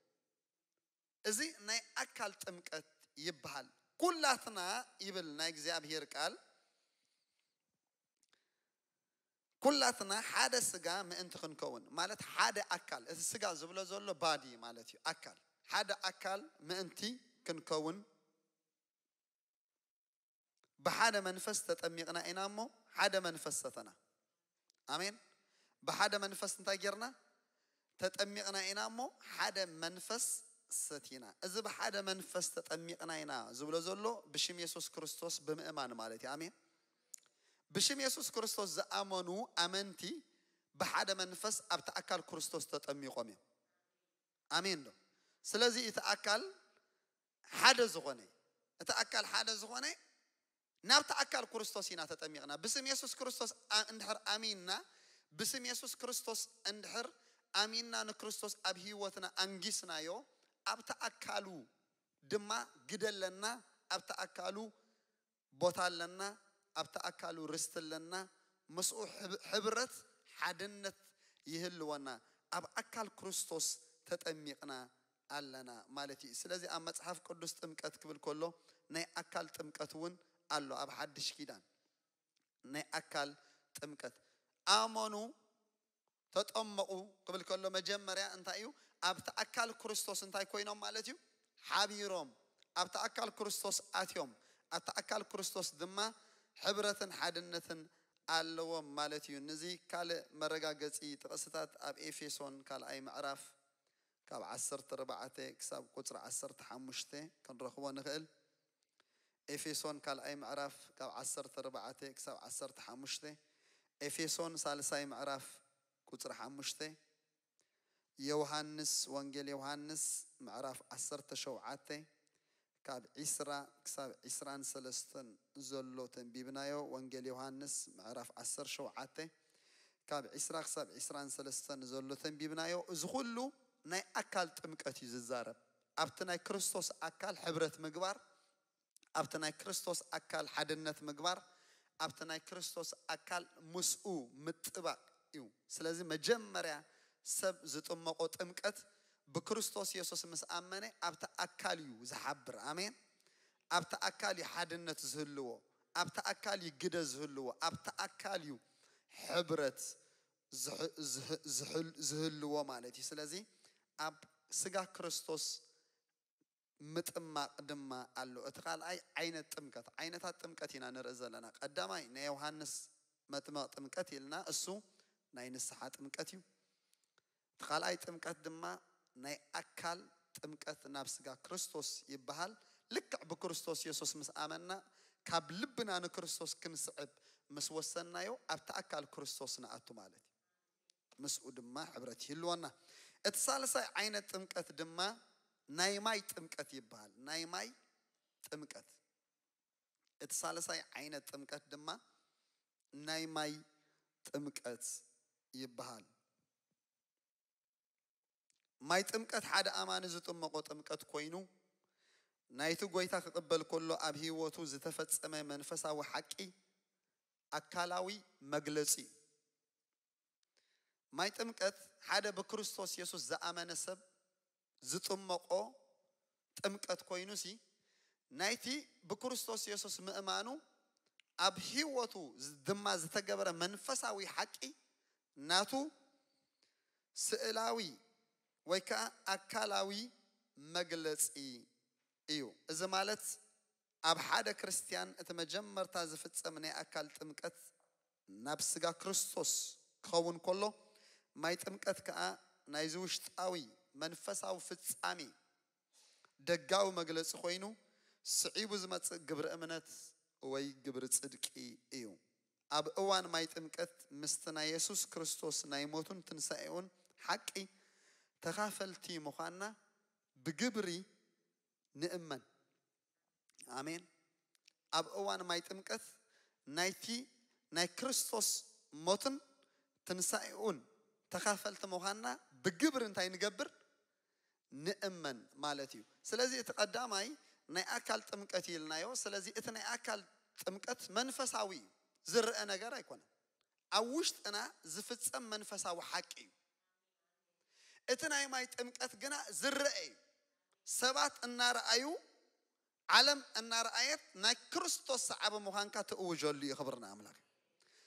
እዚ ናይ ኣካል ጥምቀት ይበሃል። ኩላትና ይብል ናይ እግዚኣብሔር ቃል፣ ኩላትና ሓደ ስጋ ምእንቲ ክንከውን፣ ማለት ሓደ ኣካል፣ እቲ ስጋ ዝብሎ ዘሎ ባዲ ማለት እዩ፣ ኣካል፣ ሓደ ኣካል ምእንቲ ክንከውን ብሓደ መንፈስ ተጠሚቕና ኢና እሞ ሓደ መንፈስ ሰተና። ኣሜን። ብሓደ መንፈስ እንታይ ጌርና? ተጠሚቕና ኢና እሞ ሓደ መንፈስ ሰቲና። እዚ ብሓደ መንፈስ ተጠሚቕና ኢና ዝብሎ ዘሎ ብሽም የሱስ ክርስቶስ ብምእማን ማለት እዩ። ኣሜን። ብሽም የሱስ ክርስቶስ ዝኣመኑ ኣመንቲ ብሓደ መንፈስ ኣብቲ ኣካል ክርስቶስ ተጠሚቖም እዮም። ኣሜን ዶ? ስለዚ እቲ ኣካል ሓደ ዝኾነ፣ እቲ ኣካል ሓደ ዝኾነ ናብቲ ኣካል ክርስቶስ ኢና ተጠሚቕና። ብስም የሱስ ክርስቶስ ኣ-፣ እንድሕር ኣሚንና፣ ብስም የሱስ ክርስቶስ እንድሕር ኣሚንና፣ ንክርስቶስ ኣብ ህይወትና ኣንጊስናዮ፣ ኣብቲ ኣካሉ ድማ ግደ ኣለና፣ ኣብቲ ኣካሉ ቦታ ኣለና፣ ኣብቲ ኣካሉ ርስቲ ኣለና፣ ምስኡ ሕብ-፣ ሕብረት ሓድነት ይህልወና። ኣብ ኣካል ክርስቶስ ተጠሚቕና ኣለና ማለት እዩ። ስለዚ ኣብ መጽሓፍ ቅዱስ ጥምቀት ክብል ከሎ ናይ ኣካል ጥምቀት እውን ኣሎ። ኣብ ሓድሽ ኪዳን ናይ ኣካል ጥምቀት ኣመኑ፣ ተጠመቑ ክብል ከሎ መጀመርያ እንታይ እዩ? ኣብቲ ኣካል ክርስቶስ እንታይ ኮይኖም ማለት እዩ? ሓቢሮም። ኣብቲ ኣካል ክርስቶስ ኣትዮም። ኣብቲ ኣካል ክርስቶስ ድማ ሕብረትን ሓድነትን ኣለዎም ማለት እዩ። ነዚ ካልእ መረጋገጺ ጥቕስታት ኣብ ኤፌሶን ካልኣይ ምዕራፍ ካብ ዓሰርተ ኣርባዕተ ክሳብ ቁጽሪ ዓሰርተ ሓሙሽተ ክንረኽቦ ንኽእል። ኤፌሶን ካልኣይ ምዕራፍ ካብ ዓሰርተ ኣርባዕተ ክሳብ ዓሰርተ ሓሙሽተ፣ ኤፌሶን ሳልሳይ ምዕራፍ ቁጽሪ ሓሙሽተ፣ ዮሃንስ፣ ወንጌል ዮሃንስ ምዕራፍ ዓሰርተ ሸውዓተ ካብ ዒስራ ክሳብ ዒስራን ሰለስተን ዘሎ ተንቢብናዮ። ወንጌል ዮሃንስ ምዕራፍ ዓሰርተ ሸውዓተ ካብ ዒስራ ክሳብ ዒስራን ሰለስተን ዘሎ ተንቢብናዮ። እዚ ኩሉ ናይ ኣካል ጥምቀት እዩ ዝዛረብ። ኣብቲ ናይ ክርስቶስ ኣካል ሕብረት ምግባር፣ ኣብቲ ናይ ክርስቶስ ኣካል ሓድነት ምግባር፣ ኣብቲ ናይ ክርስቶስ ኣካል ምስኡ ምጥባቕ እዩ። ስለዚ መጀመርያ ሰብ ዝጥመቖ ጥምቀት ብክርስቶስ የሱስ ምስ ኣመነ ኣብቲ ኣካል እዩ ዝሓብር። ኣሜን። ኣብቲ ኣካል እዩ ሓድነት ዝህልዎ፣ ኣብቲ ኣካል እዩ ግደ ዝህልዎ፣ ኣብቲ ኣካል እዩ ሕብረት ዝህ-፣ ዝህ-፣ ዝህል-፣ ዝህልዎ ማለት እዩ። ስለዚ ኣብ ስጋ ክርስቶስ ምጥማቕ ድማ ኣሎ። እቲ ካልኣይ ዓይነት ጥምቀት፣ ዓይነታት ጥምቀት ኢና ንርኢ ዘለና። ቀዳማይ ናይ ዮሃንስ መጥምቕ ጥምቀት ኢልና፣ እሱ ናይ ንስሓ ጥምቀት እዩ። እቲ ካልኣይ ጥምቀት ድማ ናይ ኣካል ጥምቀት ናብ ስጋ ክርስቶስ ይበሃል። ልክዕ ብክርስቶስ የሱስ ምስ ኣመና፣ ካብ ልብና ንክርስቶስ ክንስዕብ ምስ ወሰንናዮ፣ ኣብቲ ኣካል ክርስቶስ ንኣቱ ማለት እዩ። ምስኡ ድማ ሕብረት ይህልወና። እቲ ሳልሳይ ዓይነት ጥምቀት ድማ ናይ ማይ ጥምቀት ይበሃል። ናይ ማይ ጥምቀት። እቲ ሳልሳይ ዓይነት ጥምቀት ድማ ናይ ማይ ጥምቀት ይበሃል። ማይ ጥምቀት ሓደ ኣማኒ ዝጥመቖ ጥምቀት ኮይኑ፣ ናይቲ ጎይታ ክቕበል ከሎ ኣብ ህይወቱ ዝተፈጸመ መንፈሳዊ ሓቂ ኣካላዊ መግለጺ እዩ። ማይ ጥምቀት ሓደ ብክርስቶስ የሱስ ዝኣመነ ሰብ ዝጥመቖ ጥምቀት ኮይኑሲ፣ ናይቲ ብክርስቶስ የሱስ ምእማኑ ኣብ ህይወቱ ዝ-፣ ድማ ዝተገበረ መንፈሳዊ ሓቂ ናቱ ስእላዊ ወይ ከዓ ኣካላዊ መግለጺ እዩ። እዚ ማለት ኣብ ሓደ ክርስትያን እቲ መጀመርታ ዝፍጸም ናይ ኣካል ጥምቀት ናብ ስጋ ክርስቶስ ክኸውን ከሎ፣ ማይ ጥምቀት ከኣ ናይዚ ውሽጣዊ መንፈሳዊ ፍጻሜ ደጋዊ መግለጺ ኮይኑ፣ ስዒቡ ዝመጽእ ግብሪ እምነት ወይ ግብሪ ጽድቂ እዩ። ኣብ እዋን ማይ ጥምቀት ምስቲ ናይ የሱስ ክርስቶስ ናይ ሞቱን ትንሳኤኡን ሓቂ ተኻፈልቲ ምዃንና ብግብሪ ንእመን። ኣሜን። ኣብ እዋን ማይ ጥምቀት ናይቲ ናይ ክርስቶስ ሞትን ትንሳኤኡን ተኻፈልቲ ምዃንና ብግብሪ እንታይ ንገብር? ንእመን ማለት እዩ። ስለዚ እቲ ቀዳማይ ናይ ኣካል ጥምቀት እዩ ኢልናዮ። ስለዚ እቲ ናይ ኣካል ጥምቀት መንፈሳዊ እዩ። ዝረአ ነገር ኣይኮነን። ኣብ ውሽጥና ዝፍጸም መንፈሳዊ ሓቂ እዩ። እቲ ናይ ማይ ጥምቀት ግና ዝረአ እዩ። ሰባት እናረኣዩ፣ ዓለም እናረኣየት ናይ ክርስቶስ ሰዓቢ ምዃንካ ትእውጀሉ እዩ። ክብርና ኣምላኽ።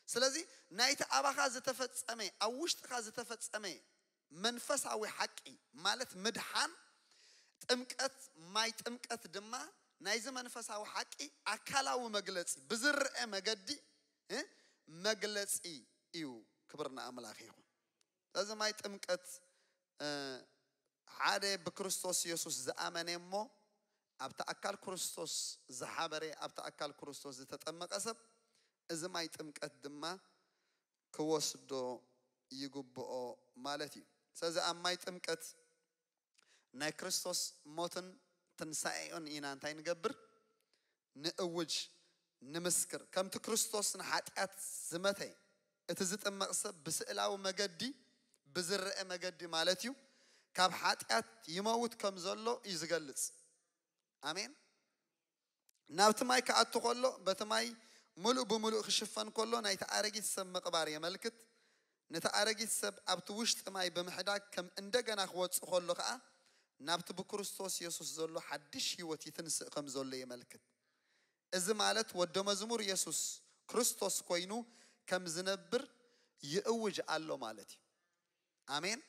ስለዚ ናይቲ ኣባኻ ዝተፈጸመ፣ ኣብ ውሽጥኻ ዝተፈጸመ መንፈሳዊ ሓቂ ማለት ምድሓን፣ ጥምቀት፣ ማይ ጥምቀት ድማ ናይዚ መንፈሳዊ ሓቂ ኣካላዊ መግለጺ፣ ብዝረአ መገዲ፣ እ፣ መግለጺ እዩ። ክብርና ኣምላኽ ይኹን። ስለዚ ማይ ጥምቀት፣ እ፣ ሓደ ብክርስቶስ የሱስ ዝኣመነ እሞ ኣብቲ ኣካል ክርስቶስ ዝሓበረ፣ ኣብቲ ኣካል ክርስቶስ ዝተጠመቐ ሰብ እዚ ማይ ጥምቀት ድማ ክወስዶ ይግብኦ ማለት እዩ። ስለዚ ኣብ ማይ ጥምቀት ናይ ክርስቶስ ሞትን ትንሳኤኡን ኢና እንታይ ንገብር? ንእውጅ፣ ንምስክር። ከምቲ ክርስቶስ ንሓጢኣት ዝመተ፣ እቲ ዝጥመቕ ሰብ ብስእላዊ መገዲ፣ ብዝረአ መገዲ ማለት እዩ፣ ካብ ሓጢኣት ይመውት ከም ዘሎ እዩ ዝገልጽ። ኣሜን። ናብቲ ማይ ክኣቱ ከሎ፣ በቲ ማይ ምሉእ ብምሉእ ክሽፈን ከሎ፣ ናይቲ ኣረጊት ሰብ ምቕባር የመልክት። ነቲ ኣረጊት ሰብ ኣብቲ ውሽጢ ማይ ብምሕዳግ ከም እንደገና ክወጽእ ከሎ ኸኣ፣ ናብቲ ብክርስቶስ የሱስ ዘሎ ሓድሽ ህይወት ይትንስእ ከም ዘሎ የመልክት። እዚ ማለት ወደ መዝሙር የሱስ ክርስቶስ ኮይኑ ከም ዝነብር ይእውጅ ኣሎ ማለት እዩ። ኣሜን።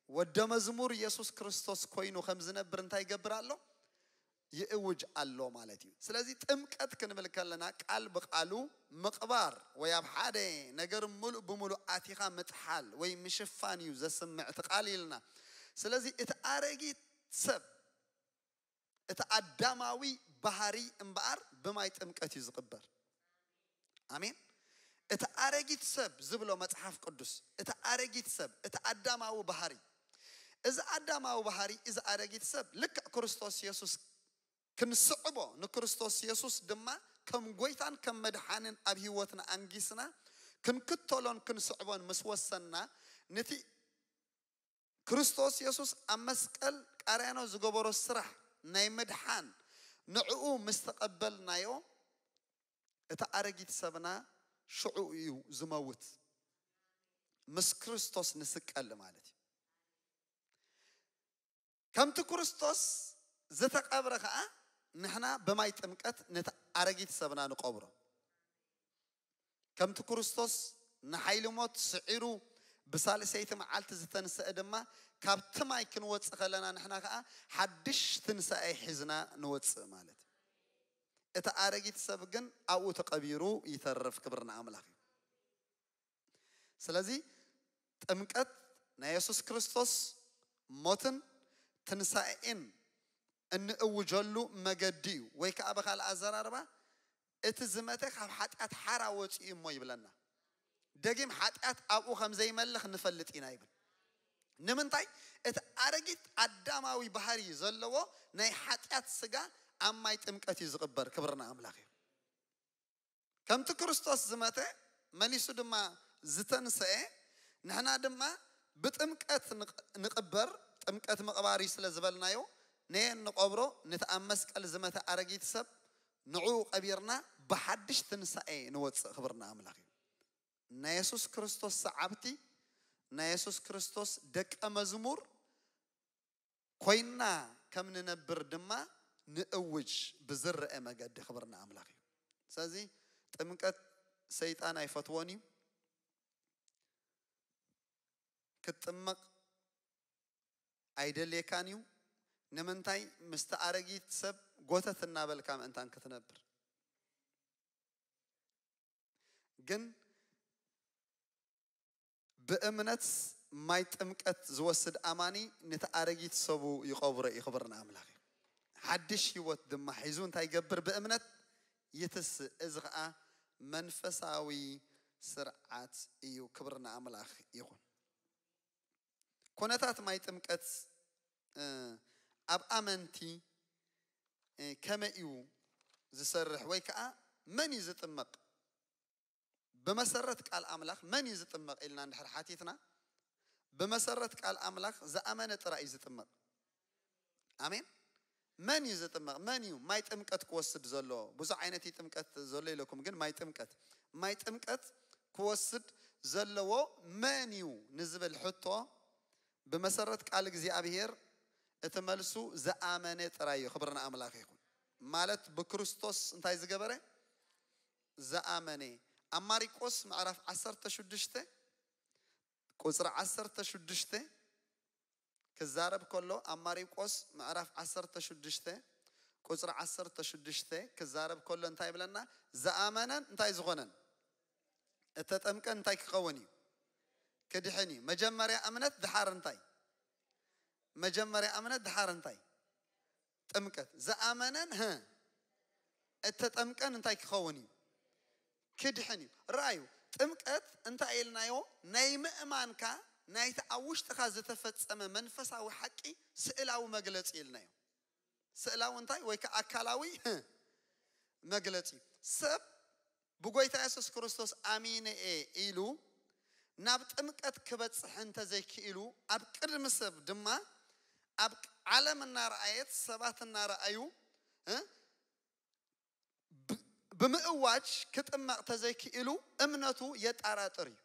ወደ መዝሙር የሱስ ክርስቶስ ኮይኑ ከም ዝነብር እንታይ ይገብር ኣሎ? ይእውጅ ኣሎ ማለት እዩ። ስለዚ ጥምቀት ክንብል ከለና ቃል ብቃሉ ምቕባር ወይ ኣብ ሓደ ነገር ምሉእ ብምሉእ ኣቲኻ ምጥሓል ወይ ምሽፋን እዩ ዘስምዕ እቲ ቃል ኢልና። ስለዚ እቲ ኣረጊት ሰብ፣ እቲ ኣዳማዊ ባህሪ እምበኣር ብማይ ጥምቀት እዩ ዝቕበር። ኣሜን። እቲ ኣረጊት ሰብ ዝብሎ መጽሓፍ ቅዱስ፣ እቲ ኣረጊት ሰብ፣ እቲ ኣዳማዊ ባህሪ፣ እዚ ኣዳማዊ ባህሪ፣ እዚ ኣረጊት ሰብ ልክዕ ክርስቶስ የሱስ ክንስዕቦ፣ ንክርስቶስ የሱስ ድማ ከም ጎይታን ከም መድሓንን ኣብ ህይወትና ኣንጊስና ክንክተሎን ክንስዕቦን ምስ ወሰንና፣ ነቲ ክርስቶስ የሱስ ኣብ መስቀል ቃርያኖ ዝገበሮ ስራሕ ናይ ምድሓን ንዕኡ ምስ ተቐበልናዮ፣ እቲ ኣረጊት ሰብና ሽዑ እዩ ዝመውት። ምስ ክርስቶስ ንስቀል ማለት እዩ። ከምቲ ክርስቶስ ዝተቐብረ ኸኣ ንሕና ብማይ ጥምቀት ነቲ ኣረጊት ሰብና ንቐብሮ። ከምቲ ክርስቶስ ንሓይሊ ሞት ስዒሩ ብሳልሰይቲ መዓልቲ ዝተንስአ ድማ፣ ካብቲ ማይ ክንወጽእ ከለና ንሕና ኸኣ ሓድሽ ትንሳኤ ሒዝና ንወጽእ ማለት እዩ። እቲ ኣረጊት ሰብ ግን ኣብኡ ተቐቢሩ ይተርፍ። ክብሪ ንኣምላኽ እዩ። ስለዚ ጥምቀት ናይ የሱስ ክርስቶስ ሞትን ትንሳኤን እንእውጀሉ መገዲ እዩ። ወይ ከኣ ብኻልእ ኣዘራርባ፣ እቲ ዝመተ ካብ ሓጢኣት ሓራ ወፂኡ እሞ ይብለና። ደጊም ሓጢኣት ኣብኡ ከም ዘይመልኽ ንፈልጥ ኢና ይብል። ንምንታይ? እቲ ኣረጊት ኣዳማዊ ባህሪ ዘለዎ ናይ ሓጢኣት ስጋ ኣብ ማይ ጥምቀት እዩ ዝቕበር። ክብርና ኣምላኽ እዩ። ከምቲ ክርስቶስ ዝመተ መሊሱ ድማ ዝተንሰኤ፣ ንሕና ድማ ብጥምቀት ንቕ-፣ ንቕበር፣ ጥምቀት ምቕባር እዩ ስለ ዝበልናዮ፣ ነየን ንቐብሮ፣ ነቲ ኣብ መስቀል ዝመተ ኣረጊት ሰብ ንዕኡ ቀቢርና ብሓድሽ ትንሳኤ ንወፅእ። ክብርና ኣምላኽ እዩ። ናይ የሱስ ክርስቶስ ሰዓብቲ፣ ናይ የሱስ ክርስቶስ ደቀ መዝሙር ኮይና ከም ንነብር ድማ ንእውጅ ብዝረአ መገዲ። ክብርና ኣምላኽ እዩ። ስለዚ ጥምቀት ሰይጣን ኣይፈትዎን እዩ። ክትጥመቕ ኣይደልየካን እዩ። ንምንታይ? ምስቲ ኣረጊት ሰብ ጎተት እናበልካ ምእንታን ክትነብር። ግን ብእምነት ማይ ጥምቀት ዝወስድ ኣማኒ ነቲ ኣረጊት ሰቡ ይቐብሮ እዩ። ክብርና ኣምላኽ እዩ። ሓድሽ ህይወት ድማ ሒዙ እንታይ ይገብር? ብእምነት ይትስእ። እዚ ኸኣ መንፈሳዊ ስርዓት እዩ። ክብርና ኣምላኽ ይኹን። ኩነታት ማይ ጥምቀት፣ እ፣ ኣብ ኣመንቲ፣ እ፣ ከመይ እዩ ዝሰርሕ ወይ ከኣ መን እዩ ዝጥመቕ? ብመሰረት ቃል ኣምላኽ መን እዩ ዝጥመቕ ኢልና እንድሕር ሓቲትና፣ ብመሰረት ቃል ኣምላኽ ዝኣመነ ጥራይ እዩ ዝጥመቕ። ኣሜን። መን እዩ ዝጥመቕ? መን እዩ ማይ ጥምቀት ክወስድ ዘለዎ? ብዙሕ ዓይነት እዩ ጥምቀት ዘሎ ኢለኩም፣ ግን ማይ ጥምቀት፣ ማይ ጥምቀት ክወስድ ዘለዎ መን እዩ ንዝብል ሕቶ፣ ብመሰረት ቃል እግዚኣብሔር እቲ መልሱ ዝኣመነ ጥራይ እዩ። ክብሪ ንኣምላኽ ይኹን። ማለት ብክርስቶስ እንታይ ዝገበረ? ዝኣመነ። ኣብ ማሪቆስ ምዕራፍ ዓሰርተ ሽዱሽተ ቁጽሪ ዓሰርተ ሽዱሽተ ክዛረብ ከሎ፣ ኣብ ማሪቆስ ምዕራፍ ዓሰርተ ሽዱሽተ ቁጽሪ ዓሰርተ ሽዱሽተ ክዛረብ ከሎ እንታይ ይብለና? ዝኣመነን እንታይ ዝኾነን? እተጠምቀን እንታይ ክኸውን እዩ? ክድሕን እዩ። መጀመርያ እምነት፣ ድሓር እንታይ? መጀመርያ እምነት፣ ድሓር እንታይ? ጥምቀት። ዝኣመነን፣ ህ፣ እተጠምቀን እንታይ ክኸውን እዩ? ክድሕን እዩ። ረኣዩ፣ ጥምቀት እንታይ ኢልናዮ? ናይ ምእማንካ፣ ናይቲ ኣብ ውሽጥኻ ዝተፈጸመ መንፈሳዊ ሓቂ ስእላዊ መግለጺ ኢልናዮ። ስእላዊ እንታይ? ወይ ከዓ ኣካላዊ፣ ህ፣ መግለጺ። ሰብ ብጎይታ የሱስ ክርስቶስ ኣሚነ እየ ኢሉ ናብ ጥምቀት ክበጽሕ እንተዘይክኢሉ፣ ኣብ ቅድሚ ሰብ ድማ፣ ኣብ ዓለም እናረኣየት፣ ሰባት እናረኣዩ፣ እ፣ ብ-፣ ብምእዋጅ ክጥመቕ ተዘይክኢሉ፣ እምነቱ የጣራጥር እዩ።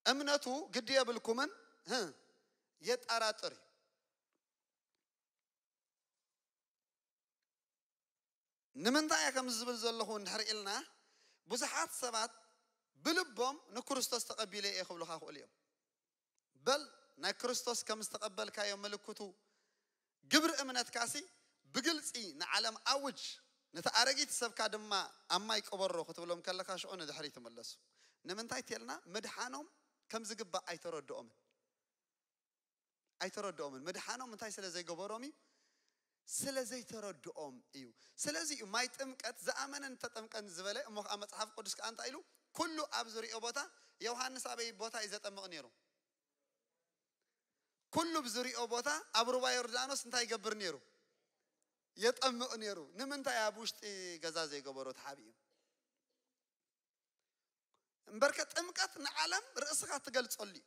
እምነቱ ግዲ የብልኩምን፣ እ፣ የጣራጥር እዩ። ንምንታይ እየ ከምዚ ዝብል ዘለኹ እንድሕር ኢልና፣ ብዙሓት ሰባት ብልቦም ንክርስቶስ ተቐቢለ እየ ክብሉኻ ክእሉ እዮም። በል፣ ናይ ክርስቶስ ከም ዝተቐበልካዮ ምልክቱ ግብሪ እምነትካሲ ብግልጺ ንዓለም ኣውጅ፣ ነቲ ኣረጊት ሰብካ ድማ ኣብ ማይ ቅበሮ ክትብሎም ከለኻ ሽዑ ንድሕሪት ይምለሱ። ንምንታይ ተልና፣ ምድሓኖም ከም ዝግባእ ኣይተረድኦምን። ኣይተረድኦምን። ምድሓኖም እንታይ ስለ ዘይገበሮም እዩ? ስለ ዘይተረድኦም እዩ። ስለዚ እዩ ማይ ጥምቀት ዝኣመነን ተጠምቀን ዝበለ። እሞ ከዓ መጽሓፍ ቅዱስ ከዓ እንታይ ኢሉ? ኩሉ ኣብ ዝሪኦ ቦታ፣ ዮሃንስ ኣበይ ቦታ እዩ ዘጠምቕ ነይሩ? ኩሉ ብዝሪኦ ቦታ ኣብ ሩባ ዮርዳኖስ እንታይ ይገብር ነይሩ? የጠምቕ ነይሩ። ንምንታይ ኣብ ውሽጢ ገዛ ዘይገበሮ ተሓቢኡ? እምበርከ ጥምቀት ንዓለም ርእስኻ ትገልጸሉ እዩ።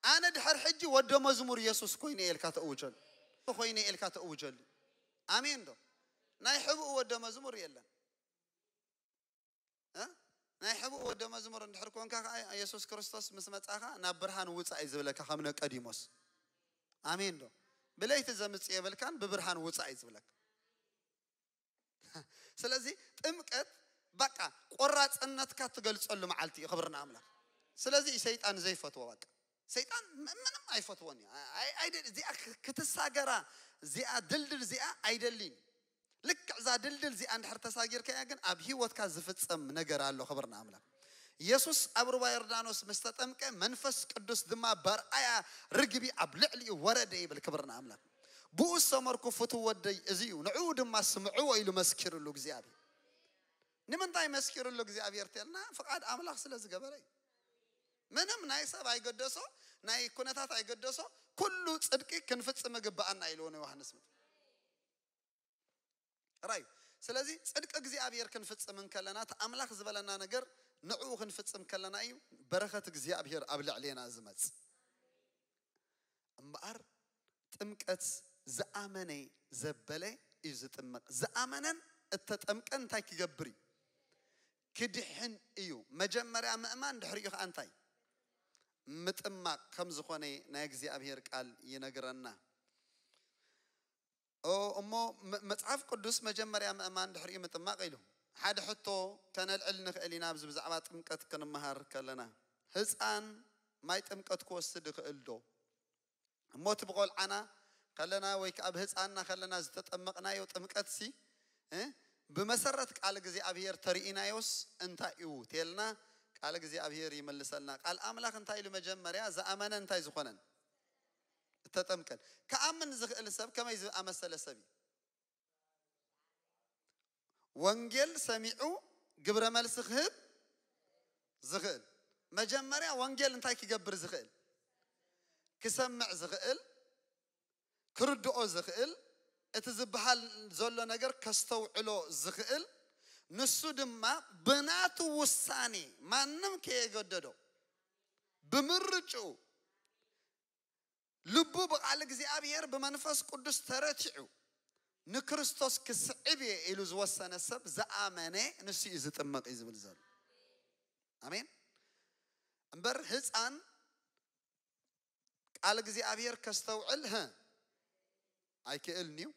ኣነ ድሕር ሕጂ ወደ መዝሙር የሱስ ኮይነ እየ ኢልካ ተእውጀሉ። ኮይነ እየ ኢልካ ተእውጀሉ። ኣሜን ዶ? ናይ ሕብኡ ወደ መዝሙር የለን። እ? ናይ ሕብኡ ወደ መዝሙር እንድሕር ኮንካ ከዓ የሱስ ክርስቶስ ምስ መጻኻ ናብ ብርሃን ውጻእ እዩ ዝብለካ ከም ነቀዲሞስ። ኣሜን ዶ? ብለይቲ ዘምጽእ የብልካን ብብርሃን ውጻእ እዩ ዝብለካ። ስለዚ ጥምቀት በቃ ቆራጽነትካ ትገልጸሉ መዓልቲ እዩ። ክብሪ ንኣምላኽ። ስለዚ እዩ ሰይጣን ዘይፈትዎ። በቃ ሰይጣን ም-፣ ምንም ኣይፈትዎን እዩ። ኣይ-፣ ኣይ-፣ ኣይደ-፣ እዚኣ ክ-፣ ክትሳገራ፣ እዚኣ ድልድል እዚኣ ኣይደሊን። ልክዕ እዛ ድልድል እዚኣ እንድሕር ተሳጊርካያ ግን ኣብ ህይወትካ ዝፍጸም ነገር ኣሎ። ክብሪ ንኣምላኽ። የሱስ ኣብ ሩባ ዮርዳኖስ ምስ ተጠምቀ መንፈስ ቅዱስ ድማ በርኣያ ርግቢ ኣብ ልዕሊኡ ወረደ ይብል። ክብሪ ንኣምላኽ። ብኡ ዝሰመርኩ ፍቱው ወደይ እዚ እዩ፣ ንዕኡ ድማ ስምዕዎ ኢሉ መስኪርሉ እግዚኣብሔር። ንምንታይ መስኪርሉ እግዚኣብሔር ተልና፣ ፍቓድ ኣምላኽ ስለ ዝገበረ እዩ። ምንም ናይ ሰብ ኣይገደሶ፣ ናይ ኩነታት ኣይገደሶ፣ ኩሉ ጽድቂ ክንፍጽም እግብኣና ኢልዎ ንዮሃንስ መጥምቅ። ራዩ። ስለዚ ጽድቂ እግዚኣብሔር ክንፍጽም እንከለና፣ እቲ ኣምላኽ ዝበለና ነገር ንዕኡ ክንፍጽም ከለና እዩ በረኸት እግዚኣብሔር ኣብ ልዕሌና ዝመጽእ። እምበኣር ጥምቀት ዝኣመነ ዘበለ እዩ ዝጥመቕ። ዝኣመነን እተጠምቀን እንታይ ክገብር እዩ? ክድሕን እዩ። መጀመርያ ምእማን፣ ድሕሪኡ ኸዓ እንታይ? ምጥማቕ ከም ዝኾነ ናይ እግዚኣብሔር ቃል ይነግረና። ኦ፣ እሞ መ-፣ መጽሓፍ ቅዱስ መጀመርያ ምእማን ድሕሪኡ ምጥማቕ ኢሉ። ሓደ ሕቶ ከነልዕል ንኽእል ኢና፣ ኣብዚ ብዛዕባ ጥምቀት ክንመሃር ከለና። ህፃን ማይ ጥምቀት ክወስድ ይኽእል ዶ? እሞ እቲ ብቖልዓና ከለና ወይ ከዓ ብህፃንና ከለና ዝተጠመቕናዮ ጥምቀትሲ፣ እ፣ ብመሰረት ቃል እግዚኣብሔር ተርኢናዮስ እንታይ እዩ? ተልና ቃል እግዚኣብሔር ይመልሰልና። ቃል ኣምላኽ እንታይ ኢሉ መጀመርያ? ዝኣመነ እንታይ ዝኾነን? እተጠምቀን። ክኣምን ዝኽእል ሰብ ከመይ ዝኣመሰለ ሰብ እዩ? ወንጌል ሰሚዑ ግብረ መልሲ ክህብ ዝኽእል። መጀመርያ ወንጌል እንታይ ክገብር ዝኽእል? ክሰምዕ ዝኽእል፣ ክርድኦ ዝኽእል፣ እቲ ዝበሃል ዘሎ ነገር ከስተውዕሎ ዝኽእል፣ ንሱ ድማ ብናቱ ውሳኔ፣ ማንም ከየገደዶ፣ ብምርጭኡ ልቡ ብቃል እግዚኣብሔር ብመንፈስ ቅዱስ ተረቲዑ ንክርስቶስ ክስዕብ እየ ኢሉ ዝወሰነ ሰብ ዝኣመነ ንሱ እዩ ዝጥመቕ እዩ ዝብል ዘሎ። ኣሜን። እምበር ህፃን ቃል እግዚኣብሔር ከስተውዕል ህ ኣይክእልን እዩ።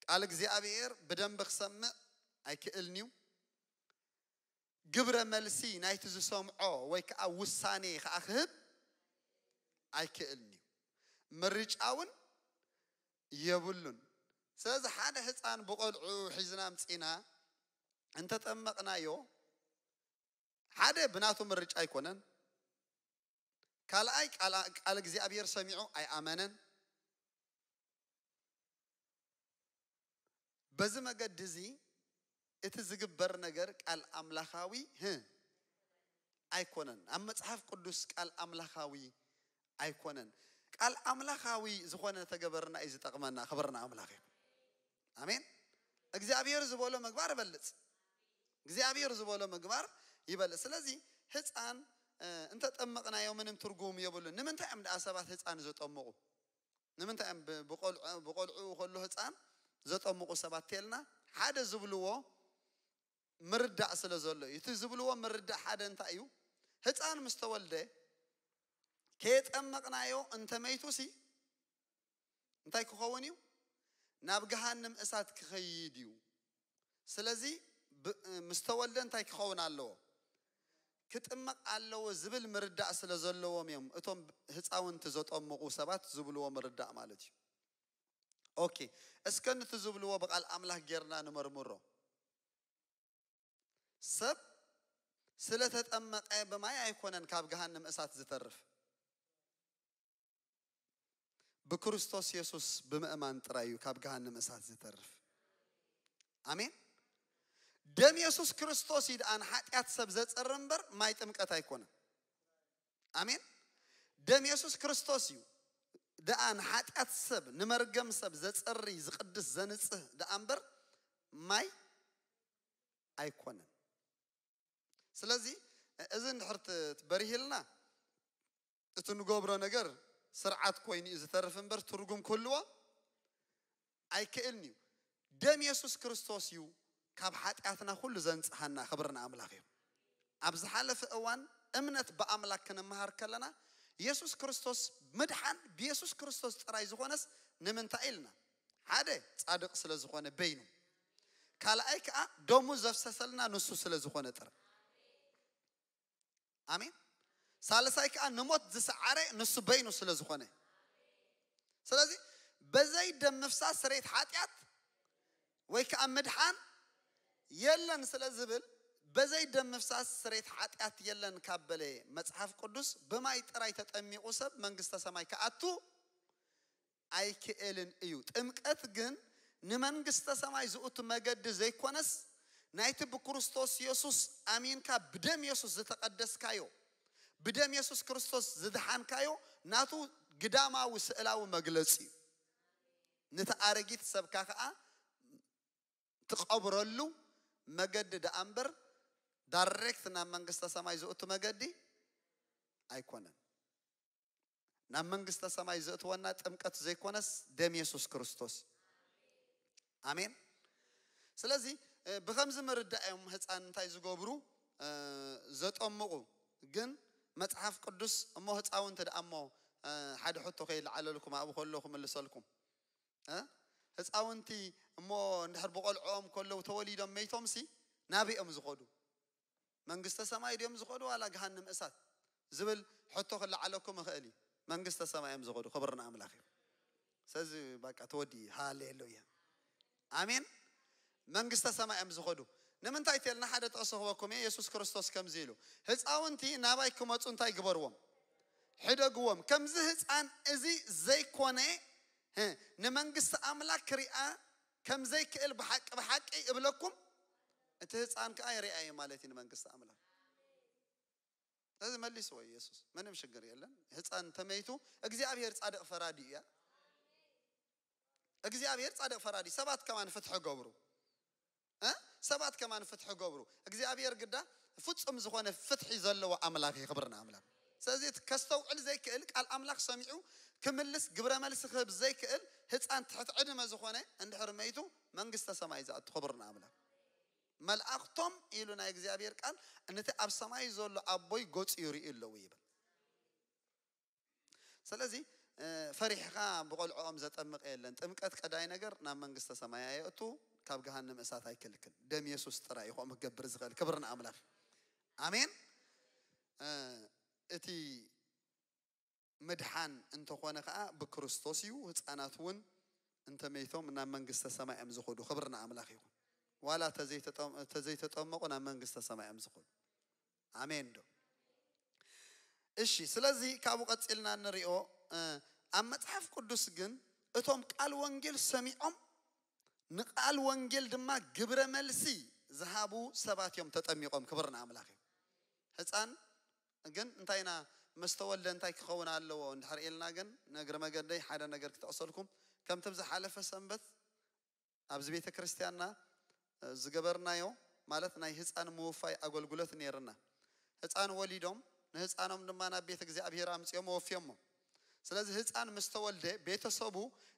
ቃል እግዚኣብሔር ብደንብ ክሰምዕ ኣይክእልን እዩ። ግብረ መልሲ ናይቲ ዝሰምዖ ወይ ከዓ ውሳኔ ከዓ ክህብ ኣይክእልን እዩ። ምርጫ እውን የብሉን። ስለዚ ሓደ ህፃን ብቆልዑ ሒዝና ምፂና እንተጠመቕናዮ ሓደ ብናቱ ምርጫ ኣይኮነን። ካልኣይ ቃል እግዚኣብሔር ሰሚዑ ኣይኣመነን። በዚ መገዲ እዚ እቲ ዝግበር ነገር ቃል ኣምላኻዊ ህ ኣይኮነን። ኣብ መጽሓፍ ቅዱስ ቃል ኣምላኻዊ ኣይኮነን። ቃል ኣምላኻዊ ዝኾነ ተገበርና እዩ ዝጠቕመና። ክብርና ኣምላኽ እዩ። ኣሜን። እግዚኣብሔር ዝበሎ ምግባር እበልጽ እግዚኣብሔር ዝበሎ ምግባር ይበልጽ። ስለዚ ህፃን እንተጠመቕናዮ ምንም ትርጉም የብሉን። ንምንታይ እዮም ደኣ ሰባት ህፃን ዘጠምቑ? ንምንታይ እዮም ብቆልዑ ከሎ ህፃን ዘጠምቑ ሰባት ተልና ሓደ ዝብልዎ ምርዳእ ስለ ዘሎ እዩ። እቲ ዝብልዎ ምርዳእ ሓደ እንታይ እዩ? ህፃን ምስ ተወልደ ከየጠመቕናዮ እንተመይቱ ሲ እንታይ ክኸውን እዩ? ናብ ገሃንም እሳት ክኸይድ እዩ። ስለዚ ምስ ተወልደ እንታይ ክኸውን ኣለዎ? ክጥመቕ ኣለዎ ዝብል ምርዳእ ስለ ዘለዎም እዮም እቶም ህፃውንቲ ዘጠምቑ ሰባት ዝብልዎ ምርዳእ ማለት እዩ። ኦኬ፣ እስከ ንቲ ዝብልዎ ብቃል ኣምላኽ ጌርና ንመርምሮ። ሰብ ስለተጠመቐ ብማይ ኣይኮነን ካብ ገሃንም እሳት ዝተርፍ። ብክርስቶስ የሱስ ብምእማን ጥራይ እዩ ካብ ገሃንም እሳት ዝተርፍ። ኣሜን። ደም የሱስ ክርስቶስ እዩ ደኣ ንሓጢኣት ሰብ ዘጸሪ እምበር ማይ ጥምቀት ኣይኮነን። ኣሜን። ደም የሱስ ክርስቶስ እዩ ደኣ ንሓጢኣት ሰብ ንመርገም ሰብ ዘጸሪ ዝቕድስ ዘንጽህ ደኣ እምበር ማይ ኣይኮነን። ስለዚ እዚ እንድሕር በሪሂልና እቲ ንገብሮ ነገር ስርዓት ኮይኑ እዩ ዝተርፍ እምበር ትርጉም ክህልዎ ኣይክእልን እዩ። ደም የሱስ ክርስቶስ እዩ ካብ ሓጢኣትና ኩሉ ዘንጽሃና። ክብርና ኣምላኽ እዩ። ኣብ ዝሓለፈ እዋን እምነት ብኣምላክ ክንመሃር ከለና የሱስ ክርስቶስ ምድሓን ብየሱስ ክርስቶስ ጥራይ ዝኾነስ ንምንታይ ኢልና ሓደ ጻድቕ ስለ ዝኾነ በይኑ፣ ካልኣይ ከዓ ደሙ ዘፍሰሰልና ንሱ ስለ ዝኾነ ጥራይ። ኣሜን። ሳልሳይ ከዓ ንሞት ዝሰዓረ ንሱ በይኑ ስለ ዝኾነ፣ ስለዚ በዘይ ደም ምፍሳስ ስሬት ሓጢኣት ወይ ከዓ ምድሓን የለን ስለ ዝብል በዘይ ደም ምፍሳስ ስሬት ሓጢኣት የለን ካብ በለ መፅሓፍ ቅዱስ ብማይ ጥራይ ተጠሚቑ ሰብ መንግስተ ሰማይ ክኣቱ ኣይክእልን እዩ። ጥምቀት ግን ንመንግስተ ሰማይ ዝእቱ መገዲ ዘይኮነስ ናይቲ ብክርስቶስ የሱስ ኣሚንካ ብደም የሱስ ዝተቐደስካዮ ብደም የሱስ ክርስቶስ ዝድሓንካዮ ናቱ ግዳማዊ ስእላዊ መግለፂ እዩ። ነቲ ኣረጊት ሰብካ ከዓ ትቐብረሉ መገዲ ደኣ እምበር ዳይሬክት ናብ መንግስተ ሰማይ ዝእቱ መገዲ ኣይኮነን። ናብ መንግስተ ሰማይ ዘእትወና ጥምቀት ዘይኮነስ ደም የሱስ ክርስቶስ። ኣሜን። ስለዚ ብከምዚ ምርዳእ እዮም ህፃን እንታይ ዝገብሩ ዘጠምቑ። ግን መፅሓፍ ቅዱስ እሞ ህፃውንቲ ደኣ እሞ ሓደ ሕቶ ከይለዓለልኩም ኣብኡ ከሎ ክምልሰልኩም። ህፃውንቲ እሞ እንድሕር ብቆልዕኦም ከለዉ ተወሊዶም መይቶም ሲ ናበይ እዮም ዝኸዱ? መንግስተ ሰማይ ድዮም ዝኸዱ ዋላ ገሃንም እሳት ዝብል ሕቶ ክለዓለኩም ይኽእል እዩ። መንግስተ ሰማይ እዮም ዝኸዱ። ክብርና ኣምላኽ እዩ። ስለዚ በቃ ተወዲ። ሃሌሉያ ኣሜን። መንግስተ ሰማይ እዮም ዝኸዱ። ንምንታይ ተልና ሓደ ጥቕሲ ክበኩም እየ። የሱስ ክርስቶስ ከምዚ ኢሉ ህፃውንቲ ናባይ ክመፁ እንታይ ግበርዎም? ሕደግዎም። ከምዚ ህፃን እዚ ዘይኮነ ንመንግስቲ ኣምላክ ክሪኣ ከም ዘይክእል ብሓቂ ብሓቂ እብለኩም እቲ ህፃን ከዓ ይሪኣ እዩ ማለት እዩ ንመንግስቲ ኣምላክ። ስለዚ መሊስዎ ኢየሱስ ምንም ሽግር የለን። ህፃን ተመይቱ እግዚኣብሔር ፃድቅ ፈራዲ እያ። እግዚኣብሔር ፃድቅ ፈራዲ ሰባት ከማን ፍትሒ ገብሩ እ ሰባት ከማን ፍትሒ ገብሩ። እግዚኣብሔር ግዳ ፍፁም ዝኾነ ፍትሒ ዘለዎ ኣምላክ እዩ። ክብርና ኣምላክ። ስለዚ ከስተውዕል ዘይክእል ቃል ኣምላክ ሰሚዑ ክምልስ፣ ግብረ መልሲ ክህብ ዘይክእል ህፃን ትሕቲ ዕድመ ዝኾነ እንድሕር መይቱ መንግስተ ሰማይ ዝኣቱ። ክብርና ኣምላኽ። መላእኽቶም ኢሉ ናይ እግዚኣብሔር ቃል ነቲ ኣብ ሰማይ ዘሎ ኣቦይ ገጹ ይርኢ ኣለዉ ይብል። ስለዚ ፈሪሕኻ ብቆልዕኦም ዘጠምቕ የለን። ጥምቀት ቀዳይ ነገር ናብ መንግስተ ሰማይ ኣየእቱ፣ ካብ ገሃነም እሳት ኣይክልክል። ደም የሱስ ጥራይ እዩ ከምኡ ክገብር ዝኽእል። ክብሪ ንኣምላኽ። ኣሜን። እቲ ምድሓን እንተኾነ ከዓ ብክርስቶስ እዩ። ህፃናት እውን እንተመይቶም ናብ መንግስተ ሰማይ እዮም ዝኸዱ። ክብሪ ንኣምላኽ ይኹን። ዋላ ተዘይተጠመቁ ናብ መንግስተ ሰማይ እዮም ዝኸዱ። ኣሜን ዶ? እሺ። ስለዚ ካብኡ ቀፂልና እንሪኦ ኣብ መፅሓፍ ቅዱስ ግን እቶም ቃል ወንጌል ሰሚዖም ንቃል ወንጌል ድማ ግብረ መልሲ ዝሃቡ ሰባት እዮም ተጠሚቆም። ክብሪ ንኣምላኽ እዩ። ህፃን ግን እንታይ ኢና፣ መስተወልደ እንታይ ክኸውን ኣለዎ እንድሕር ኢልና ግን ነግሪ መገደይ ሓደ ነገር ክጠቕሰልኩም። ከምቲ ብዝሓለፈ ሰንበት ኣብዚ ቤተ ክርስቲያንና ዝገበርናዮ ማለት ናይ ህፃን ምውፋይ ኣገልግሎት ነይርና። ህፃን ወሊዶም ንህፃኖም ድማ ናብ ቤተ እግዚኣብሔር ኣምፅኦም ወፍዮሞ። ስለዚ ህፃን ምስ ተወልደ ቤተሰቡ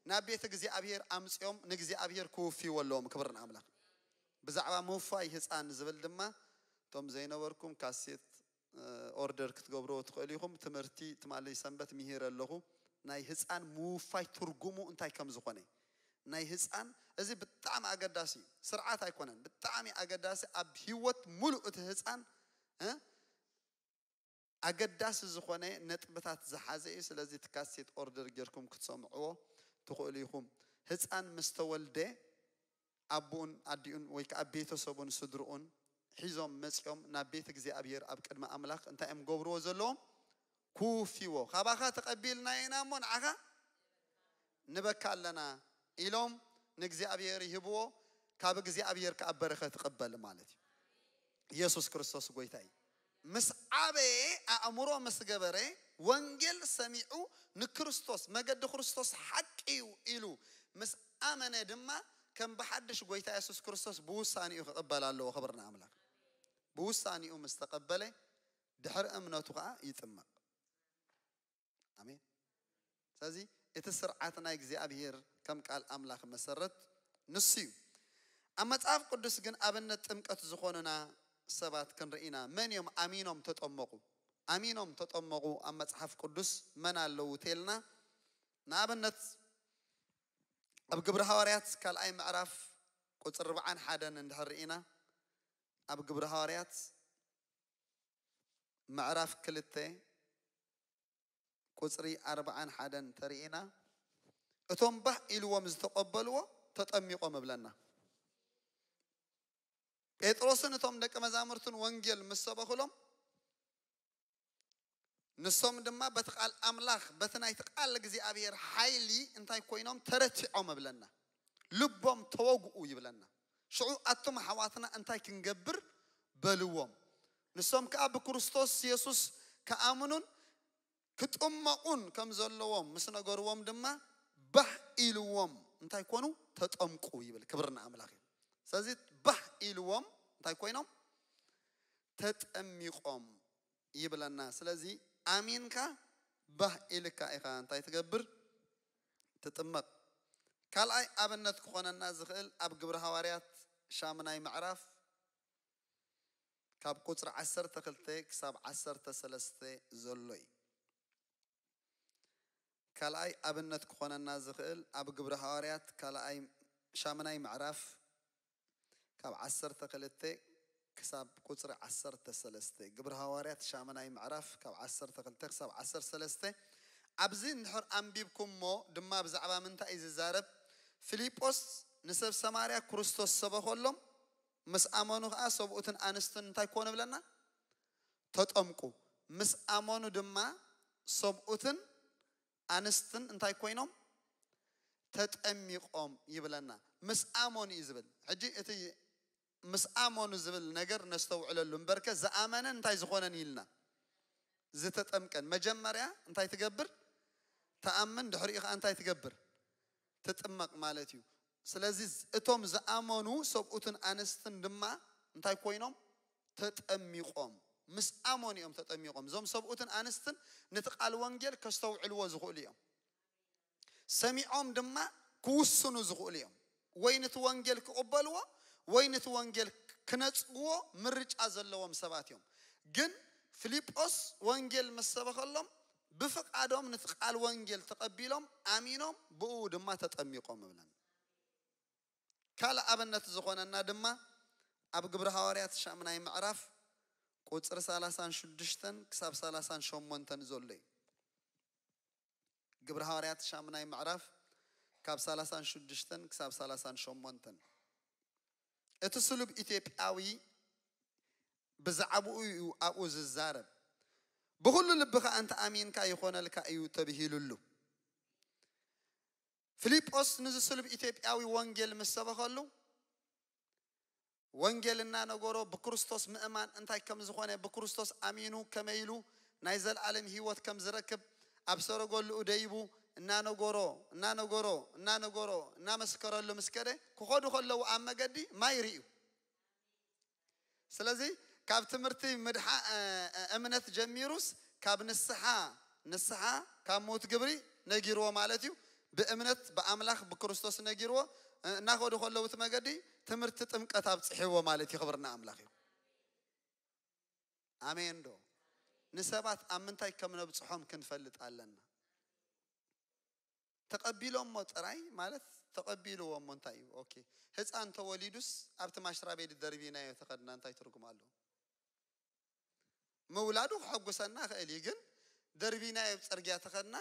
ናብ ቤተ እግዚኣብሔር ኣምፅኦም ንእግዚኣብሔር ክውፍይዎ ኣለዎም። ክብሪ ንኣምላኽ። ብዛዕባ ምውፋይ ህፃን ዝብል ድማ እቶም ዘይነበርኩም ካሴት ኦርደር ክትገብርዎ ትኽእሉ ኢኹም። ትምህርቲ ትማሊ ሰንበት ምሂር ኣለኹ። ናይ ህፃን ምውፋይ ትርጉሙ እንታይ ከም ዝኾነ ናይ ህፃን፣ እዚ ብጣዕሚ ኣገዳሲ እዩ። ስርዓት ኣይኮነን፣ ብጣዕሚ ኣገዳሲ ኣብ ህይወት ሙሉእ እቲ ህፃን እ ኣገዳሲ ዝኾነ ነጥብታት ዝሓዘ እዩ። ስለዚ እቲ ካሴት ኦርደር ጌርኩም ክትሰምዕዎ ትኽእሉ ኢኹም። ህፃን ምስ ተወልደ ኣቦኡን ኣዲኡን ወይ ከዓ ቤተሰቡን ስድርኡን ሒዞም መፂኦም ናብ ቤት እግዚኣብሔር ኣብ ቅድሚ ኣምላኽ እንታይ እዮም ገብርዎ ዘለዎም? ክውፍይዎ። ካባኻ ተቐቢልና ኢና እሞ ንዓኻ ንበካ ኣለና ኢሎም ንእግዚኣብሔር ይህብዎ። ካብ እግዚኣብሔር ከዓ በረኸት ይቕበል ማለት እዩ። ኢየሱስ ክርስቶስ ጎይታ እዩ። ምስ ዓበየ ኣእምሮ ምስ ገበረ ወንጌል ሰሚዑ ንክርስቶስ መገዲ ክርስቶስ ሓቂ እዩ ኢሉ ምስ ኣመነ ድማ ከም ብሓድሽ ጎይታ የሱስ ክርስቶስ ብውሳኔኡ ክቕበል ኣለዎ። ክብሪ ንኣምላኽ። ብውሳኔኡ ምስ ተቐበለ ድሕሪ እምነቱ ከዓ ይጥመቕ። ኣሜን። ስለዚ እቲ ስርዓት ናይ እግዚኣብሔር ከም ቃል ኣምላኽ መሰረት ንሱ እዩ። ኣብ መጽሓፍ ቅዱስ ግን ኣብነት ጥምቀት ዝኾኑና ሰባት ክንርኢ ኢና። መን እዮም ኣሚኖም ተጠመቑ? ኣሚኖም ተጠመቑ ኣብ መጽሓፍ ቅዱስ መን ኣለዉ ተልና ንኣብነት ኣብ ግብሪ ሃዋርያት ካልኣይ ምዕራፍ ቁፅሪ ኣርባዓን ሓደን እንድሕር ርኢና ኣብ ግብሪ ሃዋርያት ምዕራፍ ክልተ ቁፅሪ ኣርባዓን ሓደን ተርኢና እቶም ባህ ኢልዎም ዝተቐበልዎ ተጠሚቖም እብለና። ጴጥሮስን እቶም ደቂ መዛሙርትን ወንጌል ምስ ሰበኹሎም ንሶም ድማ በቲ ቃል ኣምላኽ በቲ ናይቲ ቃል እግዚኣብሔር ሓይሊ እንታይ ኮይኖም ተረቲዖም እብለና። ልቦም ተወግኡ ይብለና። ሽዑ ኣቱም ኣሕዋትና እንታይ ክንገብር በልዎም። ንሶም ከዓ ብክርስቶስ የሱስ ክኣምኑን ክጥመቑን ከም ዘለዎም ምስ ነገርዎም ድማ ባህ ኢልዎም እንታይ ኮኑ? ተጠምቁ ይብል። ክብሪ ንኣምላኽ እዩ። ስለዚ ባህ ኢልዎም እንታይ ኮይኖም? ተጠሚቖም ይብለና። ስለዚ ኣሚንካ ባህ ኢልካ ኢኻ እንታይ ትገብር? ትጥመቕ። ካልኣይ ኣብነት ክኾነና ዝኽእል ኣብ ግብሪ ሃዋርያት ሻምናይ ምዕራፍ ካብ ቁፅሪ ዓሰርተ ክልተ ክሳብ ዓሰርተ ሰለስተ ዘሎ እዩ። ካልኣይ ኣብነት ክኾነና ዝኽእል ኣብ ግብሪ ሃዋርያት ካልኣይ ሻምናይ ምዕራፍ ካብ ዓሰርተ ክልተ ክሳብ ቁፅሪ ዓሰርተ ሰለስተ። ግብሪ ሃዋርያት ሻምናይ ምዕራፍ ካብ ዓሰርተ ክልተ ክሳብ ዓሰርተ ሰለስተ። ኣብዚ እንድሕር ኣንቢብኩሞ ድማ ብዛዕባ ምንታይ እዩ ዝዛረብ? ፊልጶስ ንሰብ ሰማርያ ክርስቶስ ሰበኸሎም፣ ምስ ኣመኑ ከዓ ሰብኡትን ኣንስትን እንታይ ክኾኑ ብለና? ተጠምቁ። ምስ ኣመኑ ድማ ሰብኡትን ኣንስትን እንታይ ኮይኖም? ተጠሚቖም ይብለና። ምስ ኣመኑ እዩ ዝብል። ሕጂ እቲ ምስ ኣመኑ ዝብል ነገር ነስተውዕለሉ እምበርከ ዝኣመነን እንታይ ዝኾነን ኢልና? ዝተጠምቀን። መጀመርያ እንታይ ትገብር? ተኣምን፣ ድሕሪኡ ከዓ እንታይ ትገብር? ትጥመቕ ማለት እዩ። ስለዚ እቶም ዝኣመኑ ሰብኡትን ኣንስትን ድማ እንታይ ኮይኖም? ተጠሚቖም። ምስ ኣመኑ እዮም ተጠሚቖም። እዞም ሰብኡትን ኣንስትን ነቲ ቃል ወንጌል ከስተውዕልዎ ዝኽእሉ እዮም። ሰሚዖም ድማ ክውስኑ ዝኽእሉ እዮም። ወይ ነቲ ወንጌል ክቕበልዎ ወይ ነቲ ወንጌል ክነጽግዎ ምርጫ ዘለዎም ሰባት እዮም። ግን ፊልጶስ ወንጌል ምስ ሰበኸሎም ብፍቓዶም ነቲ ቃል ወንጌል ተቐቢሎም ኣሚኖም ብኡ ድማ ተጠሚቖም እብለን። ካልእ ኣብነት ዝኾነና ድማ ኣብ ግብሪ ሃዋርያት ሻምናይ ምዕራፍ ቁጽሪ ሰላሳን ሽዱሽተን ክሳብ ሰላሳን ሸሞንተን ዘሎ እዩ። ግብሪ ሃዋርያት ሻምናይ ምዕራፍ ካብ ሰላሳን ሽዱሽተን ክሳብ ሰላሳን ሸሞንተን። እቲ ስሉብ ኢትዮጵያዊ ብዛዕባኡ እዩ ኣብኡ ዝዛረብ። ብኹሉ ልብኻ እንተ ኣሚንካ ይኾነልካ እዩ ተብሂሉሉ። ፊልጶስ ንዚ ስሉብ ኢትዮጵያዊ ወንጌል ምስ ሰበኸሉ ወንጌል እናነገሮ ብክርስቶስ ምእማን እንታይ ከም ዝኾነ ብክርስቶስ ኣሚኑ ከመይ ኢሉ ናይ ዘለኣለም ህይወት ከም ዝረክብ ኣብ ሰረገሉኡ ደይቡ እናነገሮ እናነገሮ እናነገሮ እናመስከረሉ ምስ ከደ ክኸዱ ከለዉ ኣብ መገዲ ማይ ርእዩ። ስለዚ ካብ ትምህርቲ ምድሓ እምነት ጀሚሩስ ካብ ንስሓ ንስሓ ካብ ሞት ግብሪ ነጊርዎ ማለት እዩ። ብእምነት ብኣምላኽ ብክርስቶስ ነጊርዎ እናኸዱ ከለዉ እቲ መገዲ ትምህርቲ ጥምቀት ኣብፅሕዎ ማለት እዩ። ክብርና ኣምላኽ እዩ። ኣሜን ዶ? ንሰባት ኣብ ምንታይ ከም ነብፅሖም ክንፈልጥ ኣለና። ተቐቢሎሞ ጥራይ ማለት ተቐቢልዎ እሞ እንታይ እዩ? ኦኬ፣ ህፃን ተወሊዱስ ኣብቲ ማሽራ ቤት ደርቢናዮ ተኸድና እንታይ ትርጉም ኣለዎ? ምውላዱ ክሐጉሰና ይኽእል እዩ፣ ግን ደርቢናዮ ኣብ ፅርግያ ተኸድና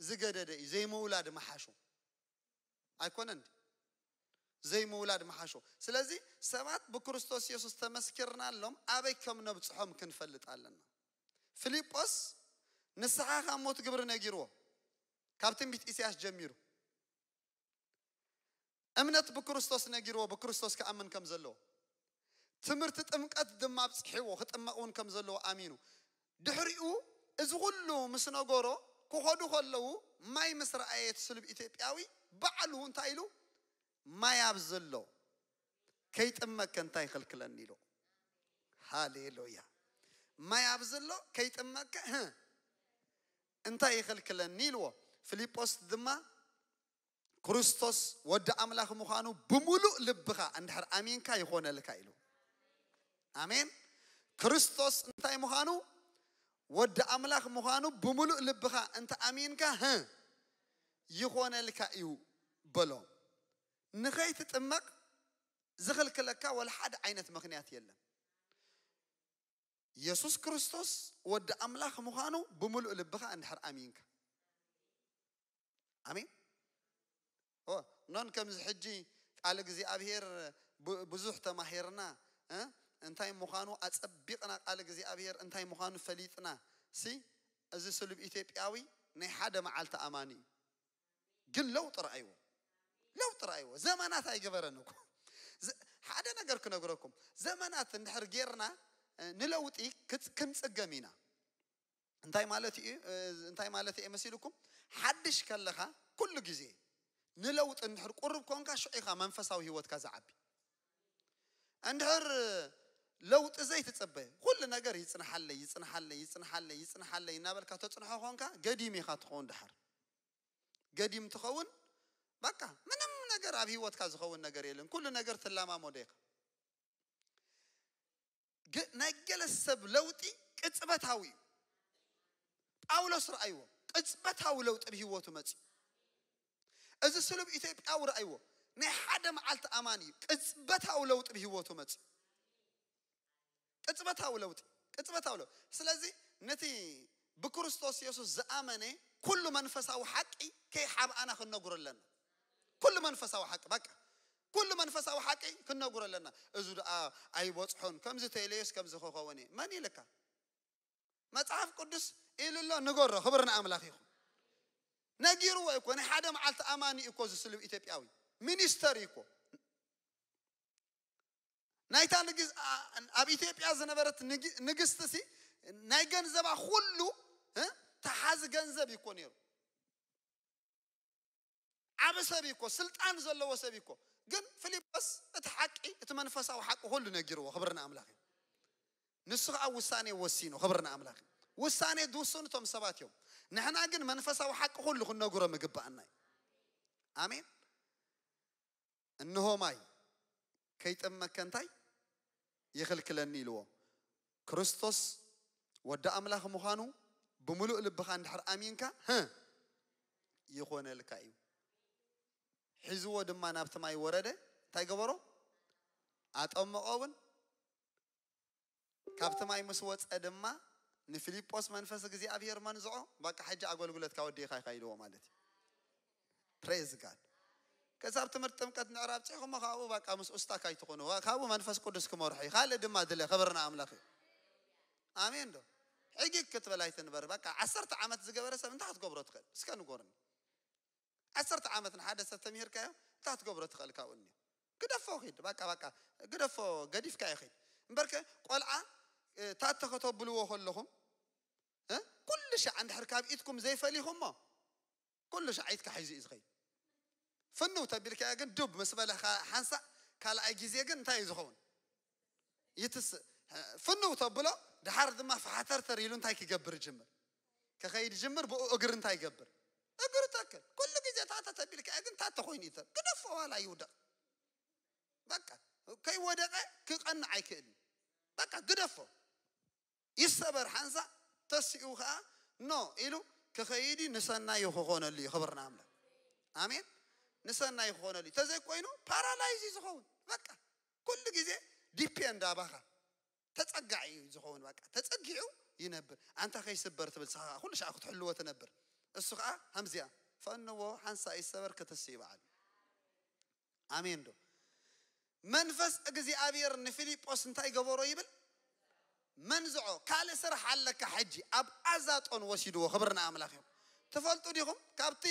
ዝገደደ እዩ። ዘይምውላድ መሓሾ ኣይኮነን? ዘይምውላድ መሓሾ። ስለዚ ሰባት ብክርስቶስ የሱስ ተመስኪርናሎም ኣበይ ከም ነብፅሖም ክንፈልጥ ኣለና። ፊልጶስ ንስሓ ካብ ሞት ግብሪ ነጊርዎ ካብ ትንቢት ኢሳያስ ጀሚሩ እምነት ብክርስቶስ ነጊርዎ ብክርስቶስ ክኣምን ከም ዘለዎ ትምህርቲ ጥምቀት ድማ ኣብፅሕዎ ክጥመቕ እውን ከም ዘለዎ ኣሚኑ ድሕሪኡ እዚ ኩሉ ምስ ነገሮ ክኸዱ ከለዉ ማይ ምስ ረኣየ እቲ ስሉብ ኢትዮጵያዊ ባዕሉ እንታይ ኢሉ ማይ ኣብ ዘሎ ከይጥመከ እንታይ ይኽልክለኒ ኢሉ። ሃሌሉያ። ማይ ኣብ ዘሎ ከይጥመከ እንታይ ይኽልክለኒ ኢልዎ። ፊልጶስ ድማ ክርስቶስ ወዲ ኣምላኽ ምዃኑ ብምሉእ ልብኻ እንድሕር ኣሚንካ ይኾነልካ ኢሉ። ኣሜን። ክርስቶስ እንታይ ምዃኑ ወዲ ኣምላኽ ምዃኑ ብምሉእ ልብኻ እንተ ኣሚንካ ህ ይኾነልካ እዩ በሎ። ንኸይትጥመቕ ዝኽልክለካ ወላ ሓደ ዓይነት ምኽንያት የለን። የሱስ ክርስቶስ ወዲ ኣምላኽ ምዃኑ ብምሉእ ልብኻ እንድሕር ኣሚንካ። ኣሜን። ኖን ከምዚ ሕጂ ቃል እግዚኣብሔር ብዙሕ ተማሂርና እንታይ ምዃኑ ኣጸቢቕና ቃል እግዚኣብሔር እንታይ ምዃኑ ፈሊጥና ሲ እዚ ስሉብ ኢትዮጵያዊ ናይ ሓደ መዓልቲ ኣማኒ እዩ። ግን ለውጢ ረኣይዎ። ለውጢ ረኣይዎ። ዘመናት ኣይገበረን እኮ። ሓደ ነገር ክነግረኩም፣ ዘመናት እንድሕር ጌርና ንለውጢ ክንጽገም ኢና። እንታይ ማለት እዩ እንታይ ማለት እየ መሲልኩም? ሓድሽ ከለኻ ኩሉ ግዜ ንለውጢ እንድሕር ቁርብ ኮንካ ሽዑ ኢኻ መንፈሳዊ ህይወትካ ዝዓቢ። እንድሕር ለውጢ ዘይትጽበ ኩሉ ነገር ይጽንሓለይ ይጽንሓለይ ይጽንሓለይ ይጽንሓለይ እናበልካ ተጽንሖ ኮንካ ገዲም ኢኻ ትኸውን። ድሓር ገዲም ትኸውን። በቃ ምንም ነገር ኣብ ህይወትካ ዝኸውን ነገር የለን። ኩሉ ነገር ትለማመዶ ኢኻ። ግን ናይ ገለ ሰብ ለውጢ ቅጽበታዊ እዩ። ጳውሎስ ረኣይዎ። ቅጽበታዊ ለውጢ ብህይወቱ መጽዩ። እዚ ስሉብ ኢትዮጵያዊ ረኣይዎ። ናይ ሓደ መዓልቲ ኣማን እዩ። ቅጽበታዊ ለውጢ ብህይወቱ መጽዩ። ቅጽበታዊ ለውጢ ቅጽበታዊ ለውጢ። ስለዚ ነቲ ብክርስቶስ የሱስ ዝኣመነ ኩሉ መንፈሳዊ ሓቂ ከይሓብኣና ክንነግሮ ኣለና። ኩሉ መንፈሳዊ ሓቂ በቃ ኩሉ መንፈሳዊ ሓቂ ክንነግሮ ኣለና። እዚ ደኣ ኣይበጽሖን ከምዚ ተይለዮስ ከምዚ ክኸውን እየ መን ኢልካ? መጽሓፍ ቅዱስ ኢሉ ኣሎ ንገሮ። ክብሪ ንኣምላኽ ይኹን። ነጊርዎ እኮ ናይ ሓደ መዓልቲ ኣማኒ እኮ ዝስልብ ኢትዮጵያዊ ሚኒስተር እኮ ናይታ ንግስ- ኣ- ኣብ ኢትዮጵያ ዝነበረት ንግ- ንግስቲ ሲ ናይ ገንዘባ ኩሉ እ? ተሓዚ ገንዘብ እኮ ነይሩ። ዓቢ ሰብ እኮ ስልጣን ዘለዎ ሰብ እኮ። ግን ፊልጶስ እቲ ሓቂ እቲ መንፈሳዊ ሓቂ ኩሉ ነጊርዎ። ክብሪ ንኣምላኽ እዩ። ንሱ ከዓ ውሳኔ ወሲኑ። ክብሪ ንኣምላኽ እዩ። ውሳኔ ዝውስኑ እቶም ሰባት እዮም። ንሕና ግን መንፈሳዊ ሓቂ ኩሉ ክንነግሮ ምግባኣና እዩ። ኣሜን። እንሆ ማይ ከይጥመከ እንታይ ይኽልክለኒ ኢልዎ። ክርስቶስ ወዲ ኣምላኽ ምዃኑ ብምሉእ ልብኻ እንድሕር ኣሚንካ፣ ህ፣ ይኾነልካ እዩ። ሒዝዎ ድማ ናብቲ ማይ ወረደ። እንታይ ገበሮ? ኣጠመቖ እውን። ካብቲ ማይ ምስ ወጸ ድማ ንፊልጶስ መንፈስ እግዚኣብሔር መንዝዖ። በቃ ሕጂ ኣገልግሎትካ ወዲእኻ ኢኻ ኢልዎ ማለት እዩ። ፕሬዝ ጋድ። ከሳብ ትምህርቲ ጥምቀት ንዕራብ ጽሕኹሞ ካብኡ በቃ ምስ ኡስታክ ኣይትኾኑ። ካብኡ መንፈስ ቅዱስ ክመርሑ እዩ። ካልእ ድማ ድለ። ክብርና ኣምላኽ እዩ። ኣሜን ዶ? ሕጊግ ክትበል ኣይትንበር። በቃ ዓሰርተ ዓመት ዝገበረ ሰብ እንታይ ክትገብሮ ትኽእል? እስከ ንጎርኒ። ዓሰርተ ዓመት ንሓደ ሰብ ተምሂርካዮ እንታይ ክትገብሮ ትኽእል? ካብኡ እኒኦ ግደፎ ኺድ። በቃ በቃ ግደፎ፣ ገዲፍካዮ ኺድ። እምበርከ ቆልዓ፣ እ፣ ታተ ከተብልዎ ከለኹም፣ እ፣ ኩሉ ሻዕ እንድሕር ካብ ኢድኩም ዘይፈሊኹሞ፣ ኩሉ ሻዕ ኢድካ ሒዙ እዩ ዝኸይድ። ፍንው ተቢልካዮ ግን ዱብ ምስ በለ ሓንሳእ ካልኣይ ግዜ ግን እንታይ እዩ ዝኸውን? ይትስእ። ፍንው ተብሎ፣ ድሓር ድማ ፈሓተርተር ኢሉ እንታይ ክገብር ይጅምር? ክኸይድ ይጅምር። ብኡ እግሪ እንታይ ይገብር? እግሪ ተክል። ኩሉ ግዜ ታተ ተቢልካዮ ግን ታተ ኮይኑ ይተ-፣ ግደፎ፣ ዋላ ይውደቕ። በቃ ከይወደቐ ክቐንዕ ኣይክእልን። በቃ ግደፎ። ይሰበር ሓንሳእ፣ ተሲኡ ኸዓ ኖ ኢሉ ክኸይድ እዩ። ንሰናዩ ክኾነሉ እዩ። ክብርና ኣምላኽ። ኣሜን። ንሰናዩ ክኾነሉ እዩ። ተዘይኮይኑ ፓራላይዝ እዩ ዝኸውን። በቃ ኩሉ ግዜ ዲፔንድ ኣባኻ። ተጸጋዒ እዩ ዝኸውን። በቃ ተጸጊዑ ይነብር። ኣንታ ከይስበር ትብል፣ ንስኻ ኩሉ ሻዕ ክትሕልዎ ትነብር። እሱ ኸዓ ከምዚኣ ፈንዎ፣ ሓንሳእ ይሰበር፣ ክትስ ይበዓል። ኣሜን ዶ? መንፈስ እግዚኣብሔር ንፊልጶስ እንታይ ገበሮ ይብል? መንዝዖ። ካልእ ስራሕ ኣለካ ሕጂ። ኣብ ኣዛጦን ወሲድዎ። ክብሪ ንኣምላኽ እዩ። ትፈልጡ ዲኹም? ካብቲ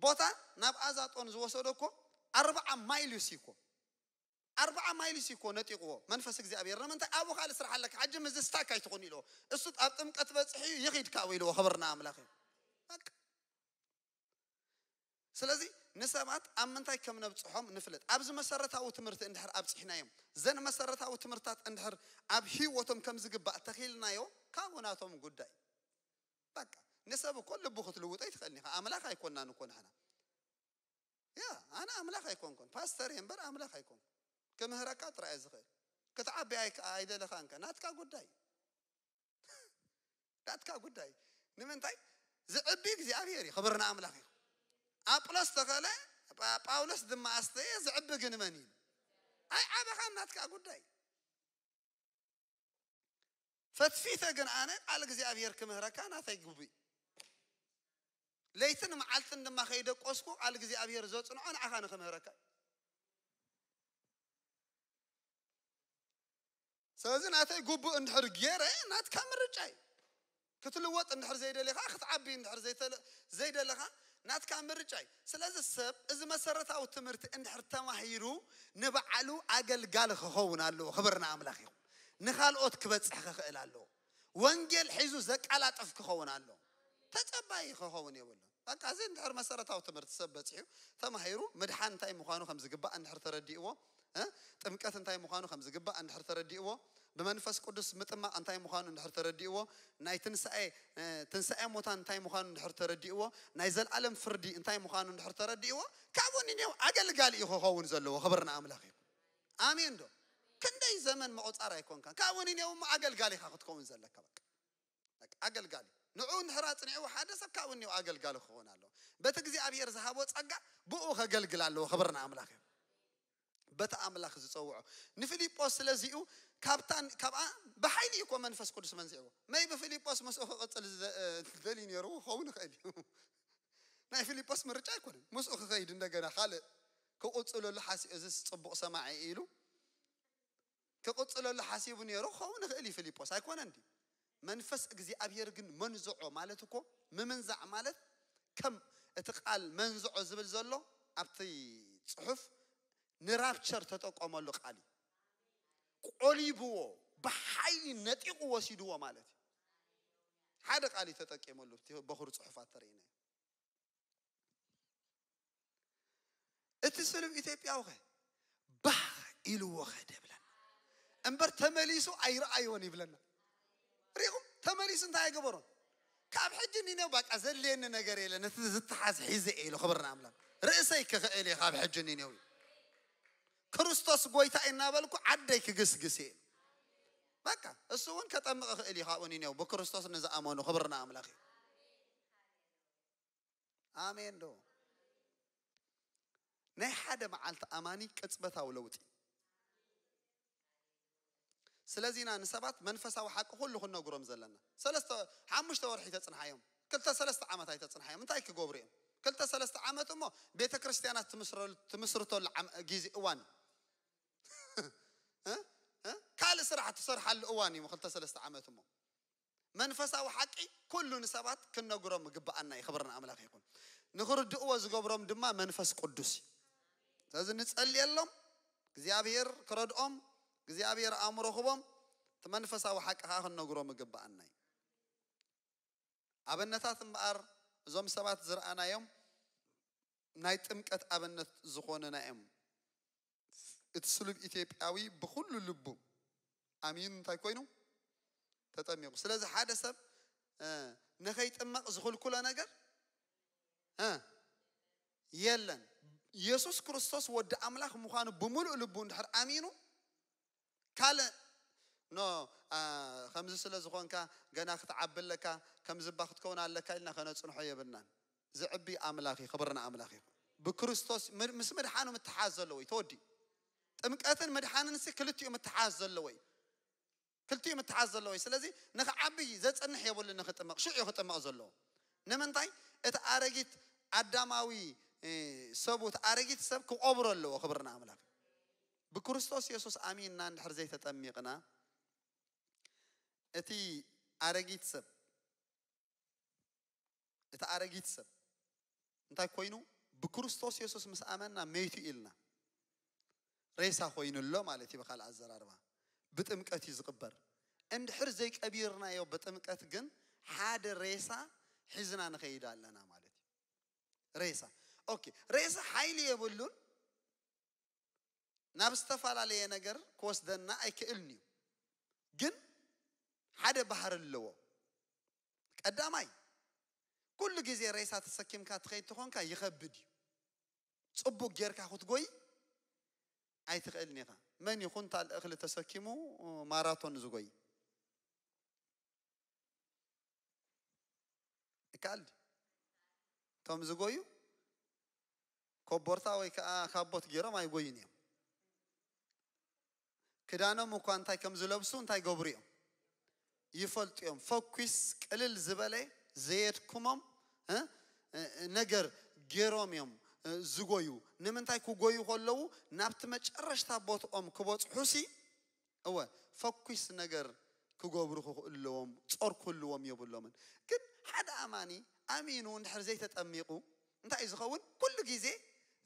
ቦታ ናብ ኣዛጦን ዝወሰዶ እኮ ኣርብዓ ማይል እዩ እኮ። ኣርብዓ ማይል እዩ እኮ ነጢቕዎ መንፈስ እግዚኣብሔር። ንምንታይ? ኣብኡ ካልእ ስራሕ ኣለካ ሕጂ፣ ምስዚ ስታክ ኣይትኹን ኢልዎ። እሱ ኣብ ጥምቀት በጽሒ እዩ፣ ይኺድ ካብኡ ኢልዎ። ክብሪ ንኣምላኽ እዩ። በቃ። ስለዚ ንሰባት ኣብ ምንታይ ከም ነብጽሖም ንፍለጥ። ኣብዚ መሰረታዊ ትምህርቲ እንድሕር ኣብጺሕናዮም፣ ዘን መሰረታዊ ትምህርትታት እንድሕር ኣብ ህይወቶም ከም ዝግባእ ተኺልናዮ፣ ካብኡ ናቶም ጉዳይ። በቃ ንሰብ እኮ ልቡ ክትልውጦ ኣይትኽእልን ኢኻ። ኣምላኽ ኣይኮናን እኮ ንሕና። ያ፣ ኣነ ኣምላኽ ኣይኮንኩን። ፓስተር እየ እምበር ኣምላኽ ኣይኮንኩን። ክምህረካ ጥራይ እየ ዝኽእል። ክትዓቢ ኣይ-፣ ኣይደለኻንከ፣ ናትካ ጉዳይ። ናትካ ጉዳይ። ንምንታይ? ዝዕቢ እግዚኣብሔር እዩ። ክብሪ ንኣምላኽ እዩ። ኣጵሎስ ተኸለ፣ ጳ-፣ ጳውሎስ ድማ ኣስተየ፣ ዝዕቢ ግን መን እዩ? ኣይዓበኻን፣ ናትካ ጉዳይ። ፈትፊተ ግን ኣነ ቃል እግዚኣብሔር ክምህረካ ናተይ ግቡእ እዩ። ለይትን መዓልትን ድማ ከይደቆስኩ ቃል እግዚኣብሔር ዘጽንዖ ንዓኻ ንክምህረካ እዩ። ስለዚ ናተይ ግቡእ እንድሕር ገይረ ናትካ ምርጫ እዩ። ክትልወጥ እንድሕር ዘይደሊኻ፣ ክትዓቢ እንድሕር ዘይተለ-፣ ዘይደለኻ ናትካ ምርጫ እዩ። ስለዚ ሰብ እዚ መሰረታዊ ትምህርቲ እንድሕር ተማሂሩ ንባዕሉ ኣገልጋሊ ክኸውን ኣለዎ። ክብሪ ንኣምላኽ ይኹን። ንኻልኦት ክበጽሕ ክኽእል ኣለዎ። ወንጌል ሒዙ ዘቀላጥፍ ክኸውን ኣለዎ። ተጸባዪ ክኸውን የብሉን። በቃ እዚ እንድሕር መሰረታዊ ትምህርቲ ሰብ በጺሑ ተማሂሩ ምድሓን እንታይ ምዃኑ ከም ዝግባእ እንድሕር ተረዲእዎ፣ እ? ጥምቀት እንታይ ምዃኑ ከም ዝግባእ እንድሕር ተረዲእዎ፣ ብመንፈስ ቅዱስ ምጥማቕ እንታይ ምዃኑ እንድሕር ተረዲእዎ፣ ናይ ትንሳኤ፣ እ፣ ትንሳኤ ሙታን እንታይ ምዃኑ እንድሕር ተረዲእዎ፣ ናይ ዘልኣለም ፍርዲ እንታይ ምዃኑ እንድሕር ተረዲእዎ፣ ካብኡ ንኔው ኣገልጋሊ እዩ ክኸውን ዘለዎ። ክብሪ ንኣምላኽ እዩ። ኣሜን ዶ? ክንደይ ዘመን ምቑጻር ኣይኮንካን። ካብኡ ንኔው እሞ ኣገልጋሊ ኢኻ ክትከውን ዘለካ። በቃ በቃ ኣገልጋሊ። ንዑ እንድሕር ኣጽኒዕዎ ሓደ ሰብ ካብኡ እኒኦ ኣገልጋሊ ክኸውን ኣለዎ። በቲ እግዚኣብሔር ዝሃቦ ጸጋ ብኡ ከገልግል ኣለዎ። ክብሪ ንኣምላኽ እዩ። በቲ ኣምላኽ ዝጸውዖ። ንፊልጶስ ስለዚኡ ካብታን ካብኣ ብሓይሊ እዩ እኮ መንፈስ ቅዱስ መንዚዕዎ። መይ ብፊልጶስ ምስኡ ክቕጽል ዝደ-፣ ደልዩ ነይሩ ክኸውን ይኽእል እዩ። ናይ ፊልጶስ ምርጫ ኣይኮነን። ምስኡ ክኸይድ እንደገና ካልእ ክቕጽለሉ ሓሲቡ፣ እዚስ ጽቡቕ ሰማዒ ኢሉ ክቕጽለሉ ሓሲቡ ነይሩ ክኸውን ይኽእል እዩ ፊልጶስ፣ ኣይኮነን ድዩ? መንፈስ እግዚኣብሔር ግን መንዝዖ ማለት እኮ ምምንዛዕ ማለት ከም እቲ ቃል መንዝዖ ዝብል ዘሎ ኣብቲ ጽሑፍ ንራፕቸር ተጠቀመሉ ቃል እዩ። ቆሊብዎ፣ ብሓይሊ ነጢቑ ወሲድዎ ማለት እዩ። ሓደ ቃል እዩ ተጠቂመሉ፣ እቲ በኹር ጽሑፋት ተርእይና። እቲ ስሉብ ኢትዮጵያዊ ኸ ባህ ኢልዎ ኸደ ይብለና እምበር ተመሊሱ ኣይረኣዮን ይብለና። ሪኹም? ተመሊሱ እንታይ ኣይገበሮን? ካብ ሕጂ ኒነው በቃ ዘድልየኒ ነገር የለን፣ እቲ ዝተሓዝ ሒዘ እየ ኢሉ። ክብርና ኣምላኽ። ርእሰይ ክኽእል እየ ካብ ሕጂ ኒነው። ክርስቶስ ጎይታ እናበልኩ ዓደይ ክግስግስ እየ። በቃ እሱ እውን ከጠምቕ ክእል እዩ ካብኡ ኒነው ብክርስቶስ ንዝኣመኑ። ክብርና ኣምላኽ እዩ። ኣሜን ዶ? ናይ ሓደ መዓልቲ ኣማኒ ቅጽበታዊ ለውጢ። ስለዚ ኢና ንሰባት መንፈሳዊ ሓቂ ኩሉ ክንነግሮም ዘለና። ሰለስተ ሓሙሽተ ወርሒ ተጽንሓዮም፣ ክልተ ሰለስተ ዓመት ኣይተጽንሓዮም። እንታይ ክገብሩ እዮም? ክልተ ሰለስተ ዓመት እሞ ቤተ ክርስቲያናት ትምስረሉ- ትምስርተሉ ዓም- ግዜ እዋን እዩ። እ? እ? ካልእ ስራሕ ትሰርሓሉ እዋን እዩ። ክልተ ሰለስተ ዓመት እሞ መንፈሳዊ ሓቂ ኩሉ ንሰባት ክንነግሮም ግብኣና እዩ። ክብርና ኣምላኽ ይኹን። ንኽርድእዎ ዝገብሮም ድማ መንፈስ ቅዱስ እዩ። ስለዚ ንጸልየሎም፣ እግዚኣብሔር ክረድኦም፣ እግዚኣብሔር ኣእምሮ ክቦም፣ እቲ መንፈሳዊ ሓቂ ከዓ ክንነግሮም ግብኣና እዩ። ኣበነታት እምበኣር እዞም ሰባት ዝረኣናዮም ናይ ጥምቀት ኣበነት ዝኾኑና እዮም። እቲ ስሉብ ኢትዮጵያዊ ብኹሉ ልቡ ኣሚኑ እንታይ ኮይኑ ተጠሚቑ። ስለዚ ሓደ ሰብ እ፣ ንኸይጥመቕ ዝኽልክሎ ነገር እ፣ የለን። ኢየሱስ ክርስቶስ ወዲ ኣምላኽ ምዃኑ ብምሉእ ልቡ እንድሕር ኣሚኑ ካልእ ኖ ኣ፣ ከምዚ ስለ ዝኾንካ ገና ክትዓቢ ኣለካ፣ ከምዚ እባ ክትከውን ኣለካ ኢልና ከነጽንሖ የብልናን። ዝዕቢ ኣምላኽ እዩ። ክብርና ኣምላኽ እዩ። ብክርስቶስ ም- ምስ ምድሓኑ ምትሓዝ ዘለዎ እዩ። ተወዲ ጥምቀትን ምድሓንን ሲ ክልቲኡ ምትሓዝ ዘለዎ እዩ። ክልቲኡ ምትሓዝ ዘለዎ እዩ። ስለዚ ንኽዓቢ ዘጽንሕ የብሉ። ንኽጥመቕ ሽዑ እዩ ክጥመቕ ዘለዎ። ንምንታይ? እቲ ኣረጊት ኣዳማዊ እ፣ ሰቡ እቲ ኣረጊት ሰብ ክቆብሮ ኣለዎ። ክብርና ኣምላኽ። ብክርስቶስ የሱስ ኣሚንና እንድሕር ዘይተጠሚቕና እቲ ኣረጊት ሰብ እቲ ኣረጊት ሰብ እንታይ ኮይኑ? ብክርስቶስ የሱስ ምስ ኣመንና መይቱ ኢልና ሬሳ ኮይኑ ኣሎ ማለት እዩ። ብካልእ ኣዘራርባ ብጥምቀት እዩ ዝቕበር። እንድሕር ዘይቀቢርናዮ ብጥምቀት ግን ሓደ ሬሳ ሒዝና ንኸይድ ኣለና ማለት እዩ። ሬሳ ኦኬ፣ ሬሳ ሓይሊ የብሉን፣ ናብ ዝተፈላለየ ነገር ክወስደና ኣይክእልን እዩ። ግን ሓደ ባህሪ ኣለዎ። ቀዳማይ ኩሉ ግዜ ሬሳ ተሰኪምካ ትኸይድ ተኾንካ ይኸብድ እዩ። ጽቡቅ ጌርካ ክትጎይ ኣይትኽእልን ኢኻ። መን እዩ ኩንታል እኽሊ ተሰኪሙ ማራቶን ዝጎይ? ይከኣል ድዩ? እቶም ዝጎዩ ኮቦርታ ወይ ከዓ ካቦት ገይሮም ኣይጎዩን እዮም። ክዳኖም እኳ እንታይ ከም ዝለብሱ እንታይ ገብሩ እዮም ይፈልጡ እዮም። ፈኲስ ቅልል ዝበለ ዘየድክሞም እ፣ እ፣ ነገር ገይሮም እዮም እ፣ ዝጎዩ። ንምንታይ ክጎዩ ከለዉ ናብቲ መጨረሽታ ቦትኦም ክበፅሑሲ እወ ፈኲስ ነገር ክገብሩ ክኽእሉ ኣለዎም። ጾር ክህልዎም የብሎምን። ግን ሓደ ኣማኒ ኣሚኑ እንድሕር ዘይተጠሚቑ እንታይ እዩ ዝኸውን? ኩሉ ግዜ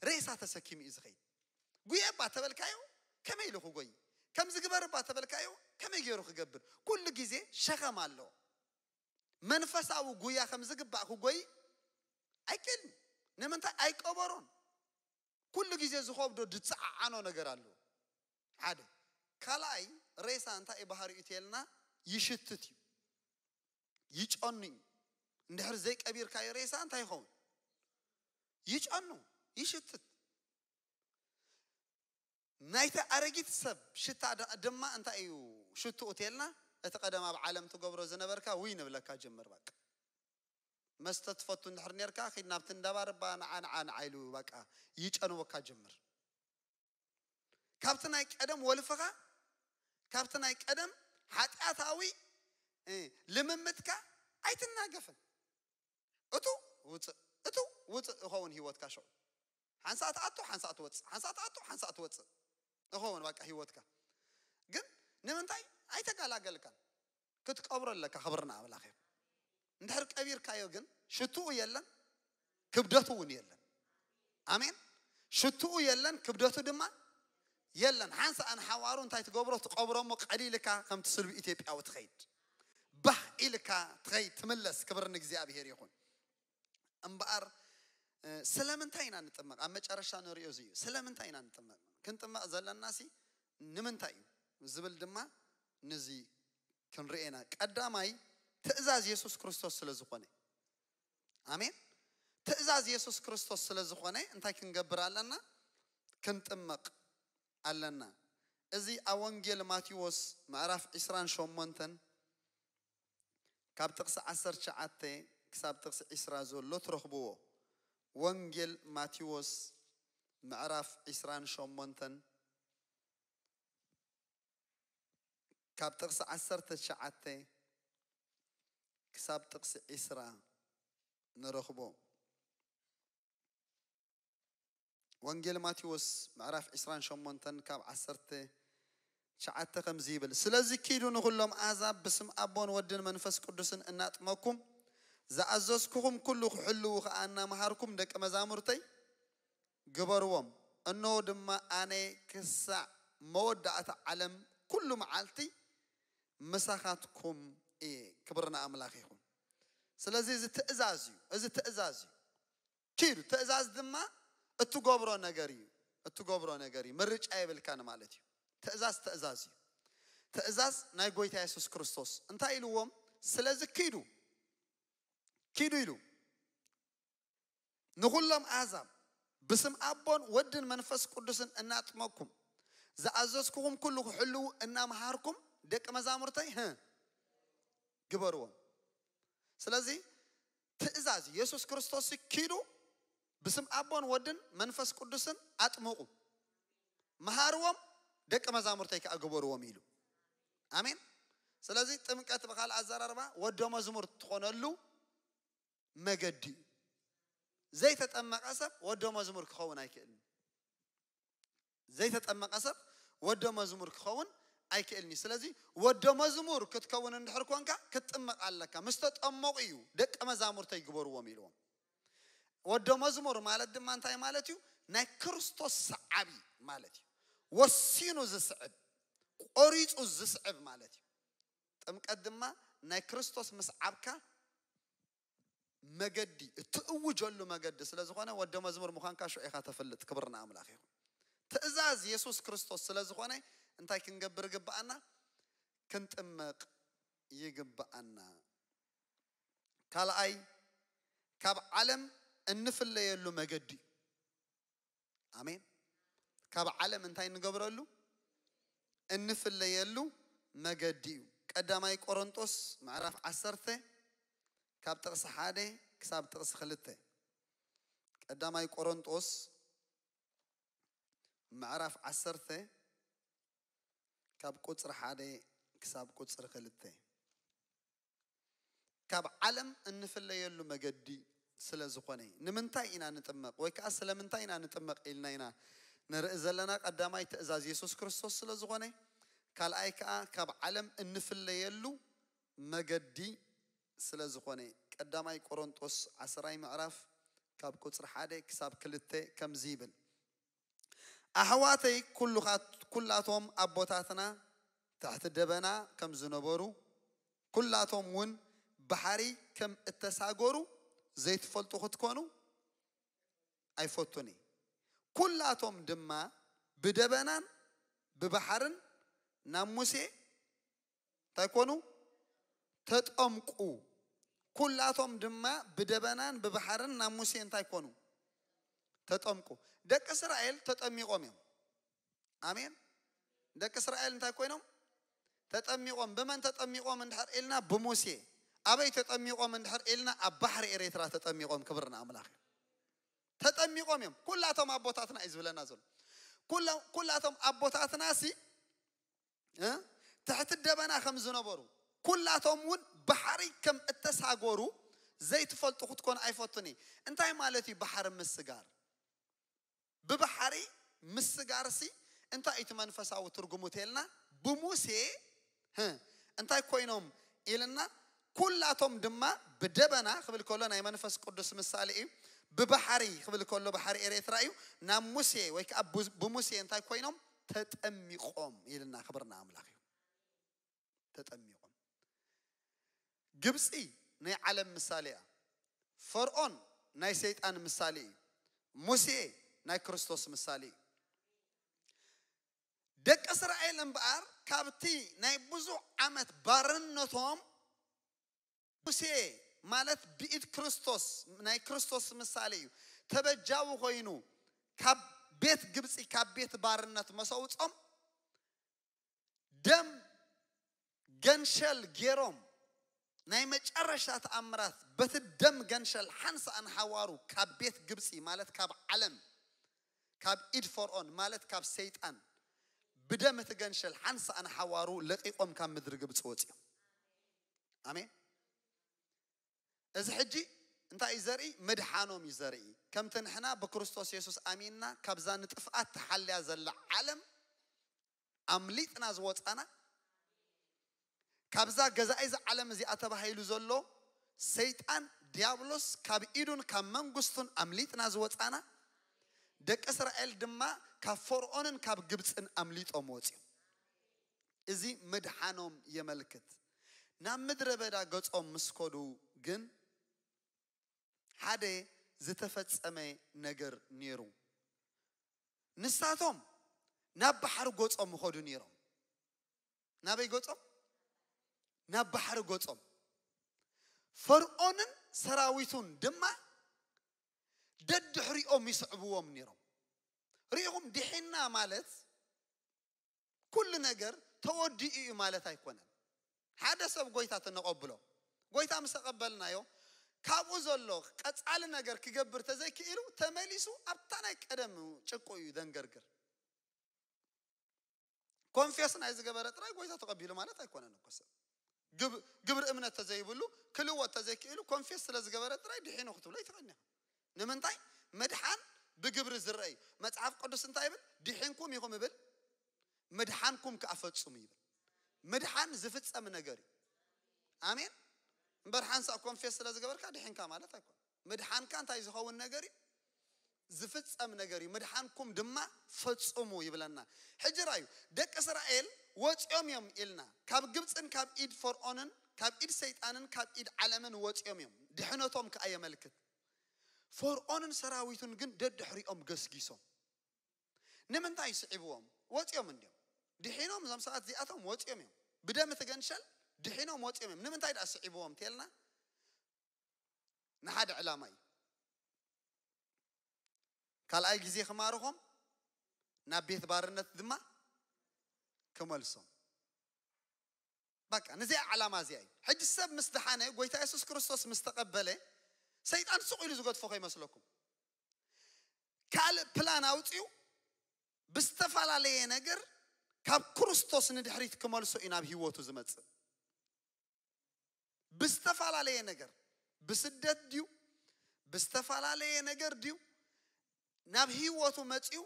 ሬሳ ተሰኪሙ እዩ ዝኸይድ። ጉየ እባ ተበልካዮ ከመይ ኢሉ ክጎይ? ከምዚ ግበር እባ ተበልካዮ ከመይ ገይሩ ክገብር? ኩሉ ግዜ ሸኸም ኣለዎ። መንፈሳዊ ጉያ ከም ዝግባእ ክጎይ ኣይክእልን። ንምንታይ? ኣይቀበሮን። ኩሉ ግዜ ዝኸብዶ ዝፀዓዓኖ ነገር ኣለዎ። ሓደ ካልኣይ ሬሳ እንታይ እዩ ባህሪኡ ተልና ይሽትት እዩ። ይጨኑ እዩ። እንድሕር ዘይቀቢርካዮ ሬሳ እንታይ ይኸውን? ይጨኑ፣ ይሽትት። ናይቲ ኣረጊት ሰብ ሽታ ድ- ድማ እንታይ እዩ ሽትኡ ተልና? እቲ ቀደም ኣብ ዓለም ትገብሮ ዝነበርካ ውይ ንብለካ ጀምር። በቃ መስተ ትፈቱ እንድሕር ኔርካ ኺድ ናብቲ እንዳባር እባ ንዓ ንዓ ንዓ ኢሉ በቃ ይጨንወካ ጀምር። ካብቲ ናይ ቀደም ወልፍኻ ካብቲ ናይ ቀደም ሓጢኣታዊ እ፣ ልምምድካ ኣይትናገፍን። እቱ ውፅእ እቱ ውፅእ እኸውን ህይወትካ ሽዑ ሓንሳእ ትኣቱ ሓንሳእ ትወፅእ ሓንሳእ ትኣቱ ሓንሳእ ትወፅእ እኸውን በቃ ህይወትካ። ግን ንምንታይ ኣይተጋላገልካን? ክትቀብሮ ኣለካ። ክብርና ኣምላኽ እዩ። እንድሕር ቀቢርካዮ ግን ሽትኡ የለን፣ ክብደቱ እውን የለን። ኣሜን። ሽትኡ የለን፣ ክብደቱ ድማ የለን። ሓንሳእ ንሓዋሩ እንታይ ትገብሮ? ትቐብሮ እሞ ቀሊልካ ከምቲ ስልቢ ኢትዮጵያዊ ትኸይድ፣ ባህ ኢልካ ትኸይድ ትምለስ። ክብር ንእግዚኣብሔር ይኹን። እምበኣር እ፣ ስለምንታይ ኢና ንጥመቕ? ኣብ መጨረሻ ንሪኦ እዚ እዩ። ስለምንታይ ኢና ንጥመቕ? ክንጥመቕ ዘለና ሲ ንምንታይ እዩ ዝብል ድማ ንዚ ክንርኤና። ቀዳማይ ትእዛዝ የሱስ ክርስቶስ ስለ ዝኾነ። ኣሜን። ትእዛዝ የሱስ ክርስቶስ ስለ ዝኾነ እንታይ ክንገብር ኣለና? ክንጥመቕ ኣለና። እዚ ኣብ ወንጌል ማቴዎስ ምዕራፍ ዕስራን ሸሞንተን ካብ ጥቕሲ ዓሰርተ ትሽዓተ ክሳብ ጥቕሲ ዕስራ ዘሎ ትረኽብዎ። ወንጌል ማቴዎስ ምዕራፍ ዕስራን ሸሞንተን ካብ ጥቕሲ ዓሰርተ ትሽዓተ ክሳብ ጥቕሲ ዕስራ ንረኽቦ። ወንጌል ማቴዎስ ምዕራፍ ዕስራን ሸሞንተን ካብ ዓሰርተ ትሽዓተ ከምዚ ይብል፣ ስለዚ ኪዱ ንኹሎም ኣሕዛብ ብስም ኣቦን ወድን መንፈስ ቅዱስን እናጥመኩም ዝኣዘዝኩኹም ኩሉ ክሕልዉ ኸኣ እናመሃርኩም ደቂ መዛሙርተይ ግበርዎም። እነሆ ድማ ኣነ ክሳዕ መወዳእታ ዓለም ኩሉ መዓልቲ ምሳኻትኩም እየ። ክብሪ ንኣምላኽ ይኹን። ስለዚ እዚ ትእዛዝ እዩ። እዚ ትእዛዝ እዩ። ኪዱ። ትእዛዝ ድማ እትገብሮ ነገር እዩ። እትገብሮ ነገር እዩ። ምርጫ የብልካን ማለት እዩ። ትእዛዝ ትእዛዝ እዩ። ትእዛዝ ናይ ጎይታ የሱስ ክርስቶስ እንታይ ኢልዎም? ስለዚ ኪዱ፣ ኪዱ ኢሉ ንኹሎም ኣሕዛብ ብስም ኣቦን ወድን መንፈስ ቅዱስን እናጥመቅኩም ዝኣዘዝኩኹም ኩሉ ክሕልዉ እናምሃርኩም ደቂ መዛሙርተይ ህ ግበርዎም። ስለዚ ትእዛዝ የሱስ ክርስቶስ ኪዱ ብስም ኣቦን ወድን መንፈስ ቅዱስን ኣጥምቑ፣ መሃርዎም፣ ደቂ መዛሙርተይ ከኣ ግበርዎም ኢሉ። ኣሜን። ስለዚ ጥምቀት ብኻልእ ኣዘራርባ ወዶ መዝሙር ትኾነሉ መገዲ እዩ። ዘይተጠመቐ ሰብ ወዶ መዝሙር ክኸውን ኣይክእልን። ዘይተጠመቐ ሰብ ወዶ መዝሙር ክኸውን ኣይክእልን እዩ። ስለዚ ወዶ መዝሙር ክትከውን እንድሕር ኮንካ ክትጥመቕ ኣለካ። ምስ ተጠመቑ እዩ ደቂ መዛሙርተይ ግበርዎም ኢልዎም። ወዶ መዝሙር ማለት ድማ እንታይ ማለት እዩ? ናይ ክርስቶስ ሰዓቢ ማለት እዩ። ወሲኑ ዝስዕብ፣ ቆሪጹ ዝስዕብ ማለት እዩ። ጥምቀት ድማ ናይ ክርስቶስ ምስዓብካ መገዲ፣ እትእውጀሉ መገዲ ስለ ዝኾነ ወደ መዝሙር ምዃንካ ሽዑ ኢኻ ተፈልጥ። ክብሪ ንኣምላኽ ይኹን። ትእዛዝ የሱስ ክርስቶስ ስለ ዝኾነ እንታይ ክንገብር ይግብኣና? ክንጥመቕ ይግብኣና። ካልኣይ፣ ካብ ዓለም እንፍለየሉ መገዲ። ኣሜን። ካብ ዓለም እንታይ እንገብረሉ? እንፍለየሉ መገዲ እዩ። ቀዳማይ ቆሮንጦስ ምዕራፍ ዓሰርተ ካብ ጥቕሲ ሓደ ክሳብ ጥቕሲ ክልተ። ቀዳማይ ቆሮንጦስ ምዕራፍ ዓሰርተ ካብ ቁጽሪ ሓደ ክሳብ ቁጽሪ ክልተ። ካብ ዓለም እንፍለየሉ መገዲ ስለ ዝኾነ እዩ። ንምንታይ ኢና ንጥመቕ ወይ ከኣ ስለምንታይ ኢና ንጥመቕ ኢልና ኢና ንርኢ ዘለና። ቀዳማይ ትእዛዝ የሱስ ክርስቶስ ስለ ዝኾነ፣ ካልኣይ ከኣ ካብ ዓለም እንፍለየሉ መገዲ ስለ ዝኾነ። ቀዳማይ ቆሮንጦስ ዓስራይ ምዕራፍ ካብ ቁጽሪ ሓደ ክሳብ ክልተ ከምዚ ይብል። ኣሕዋተይ ኩሉኻት-፣ ኩላቶም ኣቦታትና ትሕቲ ደበና ከም ዝነበሩ፣ ኩላቶም እውን ባሕሪ ከም እተሳገሩ ዘይትፈልጡ ክትኮኑ ኣይፈቱን እየ። ኩላቶም ድማ ብደበናን ብባሕርን ናብ ሙሴ እንታይ ኮኑ? ተጠምቁ። ኩላቶም ድማ ብደበናን ብባሕርን ናብ ሙሴ እንታይ ኮኑ? ተጠምቁ። ደቂ እስራኤል ተጠሚቆም እዮም። ኣሜን። ደቂ እስራኤል እንታይ ኮይኖም? ተጠሚቆም። ብመን ተጠሚቆም እንድሕር ኢልና? ብሙሴ። ኣበይ ተጠሚቆም እንድሕር ኢልና? ኣብ ባሕሪ ኤርትራ ተጠሚቆም። ክብሪ ንኣምላኽ እዩ። ተጠሚቆም እዮም። ኩላቶም ኣቦታትና እዩ ዝብለና ዘሎ። ኩላ-፣ ኩላቶም ኣቦታትና ሲ እ? ትሕቲ ደበና ከም ዝነበሩ፣ ኩላቶም እውን ባሕሪ ከም እተሳገሩ ዘይትፈልጡ ክትኮኑ ኣይፈቱን እየ። እንታይ ማለት እዩ ባሕሪ ምስጋር? ብባሕሪ ምስጋርሲ እንታይ እዩ እቲ መንፈሳዊ ትርጉሙ ተልና? ብሙሴ ህ፣ እንታይ ኮይኖም ኢልና? ኩላቶም ድማ ብደበና ክብል ከሎ ናይ መንፈስ ቅዱስ ምሳሌ እዩ። ብባሕሪ ክብል ከሎ ባሕሪ ኤርትራ እዩ። ናብ ሙሴ ወይ ከዓ ቡ-፣ ብሙሴ እንታይ ኮይኖም? ተጠሚቆም ኢልና። ክብርና ኣምላኽ እዩ። ተጠሚቆም። ግብፂ ናይ ዓለም ምሳሌ እያ። ፈርዖን ናይ ሰይጣን ምሳሌ እዩ። ሙሴ ናይ ክርስቶስ ምሳሌ እዩ። ደቂ እስራኤል እምበኣር ካብቲ ናይ ብዙሕ ዓመት ባርነቶም ሙሴ ማለት ብኢድ ክርስቶስ፣ ናይ ክርስቶስ ምሳሌ እዩ። ተበጃዊ ኮይኑ ካብ ቤት ግብፂ፣ ካብ ቤት ባርነት መሰውፆም ደም ገንሸል ገይሮም ናይ መጨረሻ ተኣምራት በቲ ደም ገንሸል ሓንሳእ ንሓዋሩ ካብ ቤት ግብፂ ማለት ካብ ዓለም ካብ ኢድ ፈርዖን ማለት ካብ ሰይጣን ብደም እቲ ገንሸል ሓንሳእ ንሓዋሩ ለቂቆም ካብ ምድሪ ግብፂ ወፂኦም። ኣሜን። እዚ ሕጂ እንታይ እዩ ዘርኢ? ምድሓኖም እዩ ዘርኢ። ከምቲ ንሕና ብክርስቶስ የሱስ ኣሚንና ካብዛ ንጥፍኣት ተሓልያ ዘላ ዓለም ኣምሊጥና ዝወፃና፣ ካብዛ ገዛኢ እዚ ዓለም እዚኣ ተባሂሉ ዘሎ ሰይጣን ዲያብሎስ ካብ ኢዱን ካብ መንግስቱን ኣምሊጥና ዝወፃና፣ ደቂ እስራኤል ድማ ካብ ፈርዖንን ካብ ግብፅን ኣምሊጦም ወፂኦም። እዚ ምድሓኖም የመልክት። ናብ ምድረ በዳ ገጾም ምስ ከዱ ግን ሓደ ዝተፈጸመ ነገር ነይሩ። ንሳቶም ናብ ባሕሪ ገጾም ይኸዱ ነይሮም። ናበይ ገጾም? ናብ ባሕሪ ገጾም። ፈርዖንን ሰራዊቱን ድማ ደድሕሪኦም ይስዕብዎም ነይሮም። ርኢኹም፣ ድሒና ማለት ኩሉ ነገር ተወዲኡ እዩ ማለት ኣይኮነን። ሓደ ሰብ ጎይታ ተነቐብሎ፣ ጎይታ ምስ ተቐበልናዮ፣ ካብኡ ዘሎ ቀጻሊ ነገር ክገብር ተዘይክኢሉ ተመሊሱ ኣብታ ናይ ቀደም ጭቁ እዩ ደንገርግር። ኮንፌስ ናይ ዝገበረ ጥራይ ጎይታ ተቐቢሉ ማለት ኣይኮነን እኮ። ሰብ ግብ-፣ ግብሪ እምነት ተዘይብሉ ክልወጥ ተዘይክኢሉ ኮንፌስ ስለ ዝገበረ ጥራይ ድሒኑ ክትብሎ ይትኽእል ኢኻ። ንምንታይ? ምድሓን ብግብሪ ዝረአ እዩ። መጽሓፍ ቅዱስ እንታይ ይብል? ድሒንኩም ኢኹም ይብል፣ ምድሓንኩም ከኣ ፈጽሙ ይብል። ምድሓን ዝፍጸም ነገር እዩ። ኣሜን። እምበር ሓንሳእ ኮንፌስ ስለ ዝገበርካ ድሒንካ ማለት ኣይኮነን። ምድሓንካ እንታይ ዝኸውን ነገር እዩ? ዝፍጸም ነገር እዩ። ምድሓንኩም ድማ ፈጽሙ ይብለና። ሕጂ ራዩ፣ ደቂ እስራኤል ወፂኦም እዮም ኢልና። ካብ ግብፅን ካብ ኢድ ፈርዖንን ካብ ኢድ ሰይጣንን ካብ ኢድ ዓለምን ወፂኦም እዮም። ድሕነቶም ከኣ የመልክት። ፈርዖንን ሰራዊቱን ግን ደድሕሪኦም ገስጊሶም። ንምንታይ ስዒብዎም? ወፂኦም እንዲዮም። ድሒኖም እዞም ሰባት እዚኣቶም ወፂኦም እዮም። ብደም እቲ ገንሸል ድሒኖም ወፂኦም እዮም። ንምንታይ ደኣ ስዒብዎም ተልና፣ ንሓደ ዕላማ እዩ። ካልኣይ ግዜ ክማርኾም፣ ናብ ቤት ባርነት ድማ ክመልሶም። በቃ፣ ንዚኣ ዕላማ እዚኣ እዩ። ሕጂ ሰብ ምስ ደሓነ፣ ጎይታ የሱስ ክርስቶስ ምስ ተቐበለ፣ ሰይጣን ስቕ ኢሉ ዝገድፎ ከይመስለኩም። ካልእ ፕላን ኣውጺኡ፣ ብዝተፈላለየ ነገር ካብ ክርስቶስ ንድሕሪት ክመልሶ እዩ ናብ ህይወቱ ዝመጽእ። ብዝተፈላለየ ነገር፣ ብስደት ድዩ፣ ብዝተፈላለየ ነገር ድዩ፣ ናብ ህይወቱ መጺኡ፣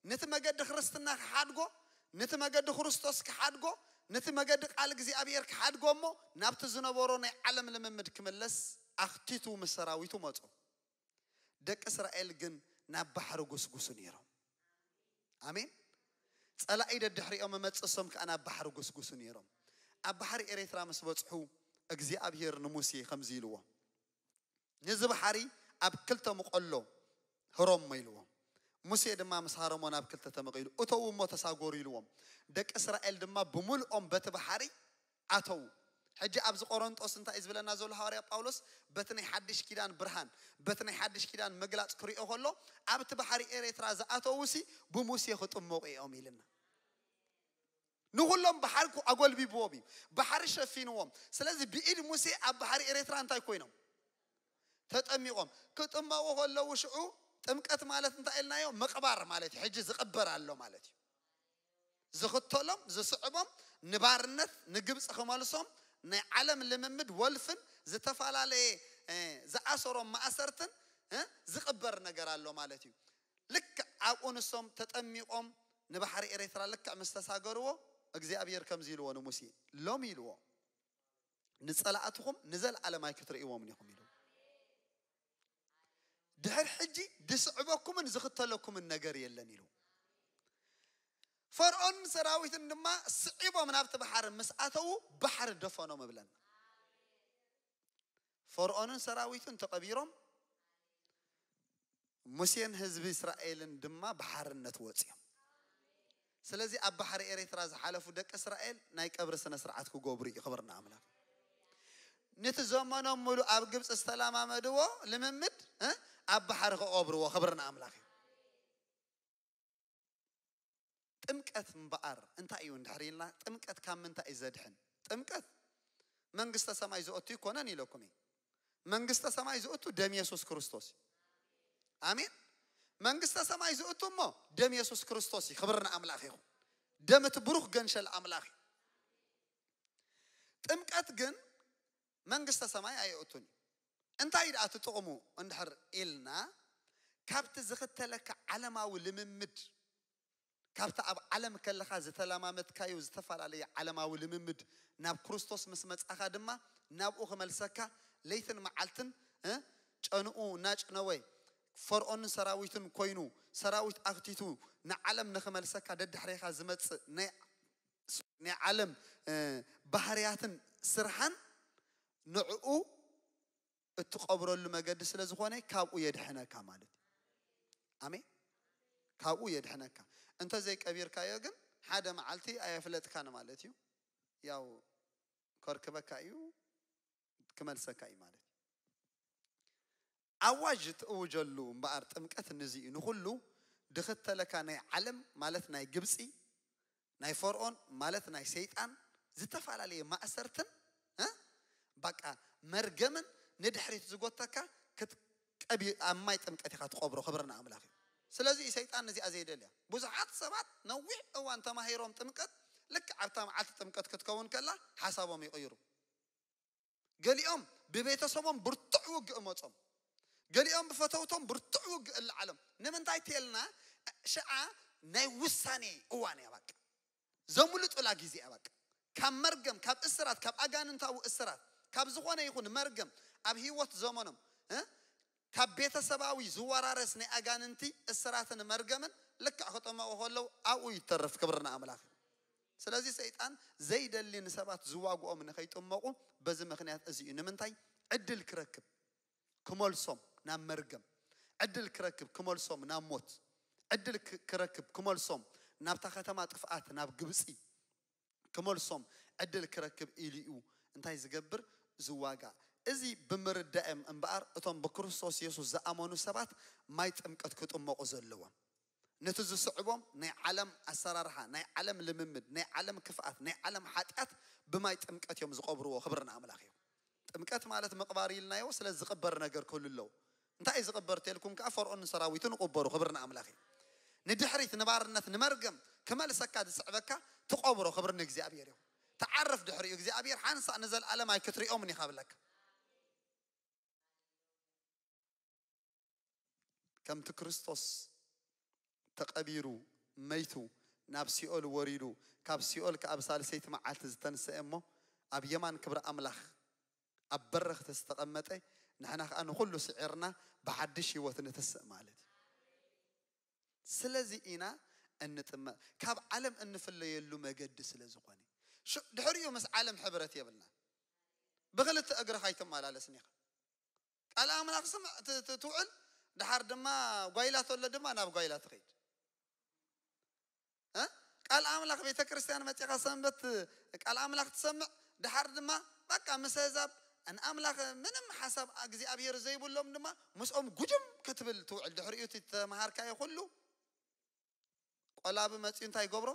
ነቲ መገዲ ክርስትና ክሓድጎ፣ ነቲ መገዲ ክርስቶስ ክሓድጎ፣ ነቲ መገዲ ቃል እግዚኣብሔር ክሓድጎ እሞ፣ ናብቲ ዝነበሮ ናይ ዓለም ልምምድ ክምለስ ኣኽቲቱ ምስ ሰራዊቱ መጾ። ደቂ እስራኤል ግን ናብ ባሕሪ ጉስጉሱ ነይሮም። ኣሜን። ጸላኢ ደድሕሪኦም መመጽእ፣ እሶም ከኣ ናብ ባሕሪ ጉስጉሱ ነይሮም። ኣብ ባሕሪ ኤርትራ ምስ በጽሑ፣ እግዚኣብሔር ንሙሴ ከምዚ ኢልዎ፣ "ነዚ ባሕሪ ኣብ ክልተ ምቐሎ ህሮሞ" ኢልዎ። ሙሴ ድማ ምስ ሃረሞ ናብ ክልተ ተመቒሉ፣ "እተዉ እሞ ተሳጎሩ" ኢልዎም። ደቂ እስራኤል ድማ ብምልኦም በቲ ባሕሪ ኣተዉ። ሕጂ ኣብዚ ቆሮንጦስ እንታይ እዩ ዝብለና ዘሎ ሃዋርያ ጳውሎስ? በቲ ናይ ሓድሽ ኪዳን ብርሃን፣ በቲ ናይ ሓድሽ ኪዳን ምግላጽ ክሪኦ ከሎ፣ ኣብቲ ባሕሪ ኤርትራ ዝኣተዉሲ ብሙሴ ክጥመቑ እዮም ኢልና። ንኹሎም ባሕሪ ኣጎልቢብዎም እዩ፣ ባሕሪ ሸፊንዎም። ስለዚ ብኢድ ሙሴ ኣብ ባሕሪ ኤርትራ እንታይ ኮይኖም? ተጠሚቖም። ክጥመቑ ከለዉ ሽዑ ጥምቀት ማለት እንታይ ኢልናዮ? ምቕባር ማለት እዩ። ሕጂ ዝቕበር ኣሎ ማለት እዩ። ዝኽተሎም፣ ዝስዕቦም፣ ንባርነት ንግብፂ ክመልሶም ናይ ዓለም ልምምድ ወልፍን ዝተፈላለየ፣ እ፣ ዝኣሰሮም ማእሰርትን፣ እ፣ ዝቕበር ነገር ኣሎ ማለት እዩ። ልክዕ ኣብኡ ንሶም ተጠሚቖም ንባሕሪ ኤርትራ ልክዕ ምስ ተሳገርዎ፣ እግዚኣብሔር ከምዚ ኢልዎ ንሙሴ፣ "ሎሚ" ኢልዎ፣ "ንጸላእትኹም ንዘለኣለም ኣይክትርእይዎምን ኢኹም" ኢሉ። "ድሕር ሕጂ ዝስዕበኩምን ዝኽተለኩምን ነገር የለን" ኢሉ። ፈርዖን ሰራዊትን ድማ ስዒቦም ናብቲ ባሕሪ ምስ ኣተዉ፣ ባሕሪ ደፈኖም እብለና። ፈርዖንን ሰራዊቱን ተቐቢሮም፣ ሙሴን ህዝቢ እስራኤልን ድማ ብሓርነት ወፂኦም። ስለዚ ኣብ ባሕሪ ኤርትራ ዝሓለፉ ደቂ እስራኤል ናይ ቀብሪ ስነ ስርዓት ክገብሩ እዩ። ክብሪ ንኣምላኽ። ነቲ ዘመኖም ሙሉ ኣብ ግብፂ ዝተለማመድዎ ልምምድ እ ኣብ ባሕሪ ክቐብርዎ። ክብሪ ንኣምላኽ እዩ። ጥምቀት እምበኣር እንታይ እዩ እንድሕር ኢልና፣ ጥምቀት ካብ ምንታይ እዩ ዘድሕን? ጥምቀት መንግስተ ሰማይ ዘእቱ ይኮነን ኢለኩም እየ። መንግስተ ሰማይ ዘእቱ ደም የሱስ ክርስቶስ እዩ። ኣሜን። መንግስተ ሰማይ ዘእቱ እሞ ደም የሱስ ክርስቶስ እዩ። ክብሪ ንኣምላኽ ይኹን። ደም እቲ ብሩኽ ገንሸል ኣምላኽ እዩ። ጥምቀት ግን መንግስተ ሰማይ ኣየእቱን እዩ። እንታይ ደኣ እቲ ጥቕሙ እንድሕር ኢልና፣ ካብቲ ዝኽተለካ ዓለማዊ ልምምድ፣ ካብቲ ኣብ ዓለም ከለኻ ዝተለማመድካዮ ዝተፈላለየ ዓለማዊ ልምምድ ናብ ክርስቶስ ምስ መጻኻ ድማ ናብኡ ክመልሰካ ለይትን መዓልትን እ ጨንኡ እናጭነወ ፈርዖንን ሰራዊቱን ኮይኑ ሰራዊት ኣኽቲቱ ንዓለም ንኽመልሰካ ደድሕሬኻ ዝመጽእ ናይ ናይ ዓለም እ ባህርያትን ስርሓን ንዕኡ እትቐብረሉ መገዲ ስለ ዝኾነ ካብኡ የድሕነካ ማለት እዩ። ኣሜን። ካብኡ የድሕነካ። እንተ ዘይቀቢርካዮ ግን ሓደ መዓልቲ ኣየፍለጥካን ማለት እዩ። ያው ከርክበካ እዩ፣ ክመልሰካ እዩ ማለት እዩ። ኣዋጅ ትእውጀሉ እምበኣር ጥምቀት ንዚ እዩ። ንኹሉ ድኽተለካ ናይ ዓለም ማለት ናይ ግብፂ ናይ ፈርዖን ማለት ናይ ሰይጣን ዝተፈላለየ ማእሰርትን እ በቃ መርገምን ንድሕሪት ዝጎተካ ክትቀቢ ኣብ ማይ ጥምቀት ኢኻ ትቆብሮ። ክብርና ኣምላኽ እዩ። ስለዚ ሰይጣን ነዚኣ ዘይደልያ። ብዙሓት ሰባት ነዊሕ እዋን ተማሂሮም ጥምቀት ልክዕ ኣብታ መዓልቲ ጥምቀት ክትከውን ከላ ሓሳቦም ይቕይሩ። ገሊኦም ብቤተሰቦም ብርቱዕ ውግእ መጾም፣ ገሊኦም ብፈተውቶም ብርቱዕ ውግእ እልዓሎም። ንምንታይ ተልና ሽዓ ናይ ውሳኔ እዋን እያ። በቃ ዘምልጡላ ግዜ እያ። በቃ ካብ መርገም፣ ካብ እስራት፣ ካብ ኣጋንንታዊ እስራት፣ ካብ ዝኾነ ይኹን መርገም ኣብ ህይወት ዘመኖም እ ካብ ቤተሰባዊ ዝወራረስ ናይ ኣጋንንቲ እስራትን መርገምን ልክዕ ክጥመቑ ከለዉ ኣብኡ ይተርፍ። ክብርና ኣምላኽ እዩ። ስለዚ ሰይጣን ዘይደሊ ንሰባት ዝዋግኦም ንኸይጥመቑ በዚ ምኽንያት እዚ እዩ። ንምንታይ? ዕድል ክረክብ ክመልሶም ናብ መርገም፣ ዕድል ክረክብ ክመልሶም ናብ ሞት፣ ዕድል ክ- ክረክብ ክመልሶም ናብታ ከተማ ጥፍኣት ናብ ግብፂ ክመልሶም ዕድል ክረክብ ኢሉ እዩ እንታይ ዝገብር? ዝዋጋ። እዚ ብምርዳእም እምበኣር እቶም ብክርስቶስ የሱስ ዝኣመኑ ሰባት ማይ ጥምቀት ክጥመቑ ዘለዎም። ነቲ ዝስዕቦም ናይ ዓለም ኣሰራርሓ፣ ናይ ዓለም ልምምድ፣ ናይ ዓለም ክፍኣት፣ ናይ ዓለም ሓጢኣት ብማይ ጥምቀት እዮም ዝቐብርዎ። ክብሪ ንኣምላኽ እዩ። ጥምቀት ማለት ምቕባር ኢልናዮ፣ ስለ ዝቕበር ነገር ክህሉ ኣለዎ። እንታይ እዩ ዝቕበር ተልኩም ከኣ ፈርዖን ንሰራዊቱ ንቕበሩ። ክብሪ ንኣምላኽ እዩ። ንድሕሪት ንባርነት ንመርገም ክመልሰካ ዝስዕበካ ትቐብሮ። ክብሪ ንእግዚኣብሔር እዩ። ተዓርፍ ድሕሪኡ እግዚኣብሔር ሓንሳእ ንዘለኣለም ኣይክትሪኦምን ኢኻ ብለካ። ከምቲ ክርስቶስ ተቐቢሩ መይቱ ናብ ሲኦል ወሪዱ ካብ ሲኦል ከኣ ብሳልሰይቲ መዓልቲ ዝተንስአ እሞ ኣብ የማን ክብሪ ኣምላኽ ኣብ በረኽቲ ዝተቐመጠ ንሕና ከኣ ንኹሉ ስዒርና ብሓድሽ ህይወት ንትስእ ማለት እዩ። ስለዚ ኢና እንጥመ ካብ ዓለም እንፍለየሉ መገዲ ስለ ዝኾነ ድሕሪኡ ምስ ዓለም ሕብረት የብልና። ብክልተ እግርኻ ኣይትመላለስን ኢኻ። ቃል ኣምላኽ ስምዕ ትውዕል፣ ድሓር ድማ ጓይላ ተሎ ድማ ናብ ጓይላ ትኸይድ። ቃል ኣምላኽ ቤተ ክርስቲያን መፂኻ ሰንበት ቃል ኣምላኽ ትሰምዕ፣ ድሓር ድማ በቃ ምስ ኣህዛብ ንኣምላኽ ምንም ሓሳብ እግዚኣብሔር ዘይብሎም ድማ ምስኦም ጉጅም ክትብል ትውዕል። ድሕሪኡ እቲ ተምሃርካዮ ኩሉ ቆላቢ መፂኡ እንታይ ይገብሮ?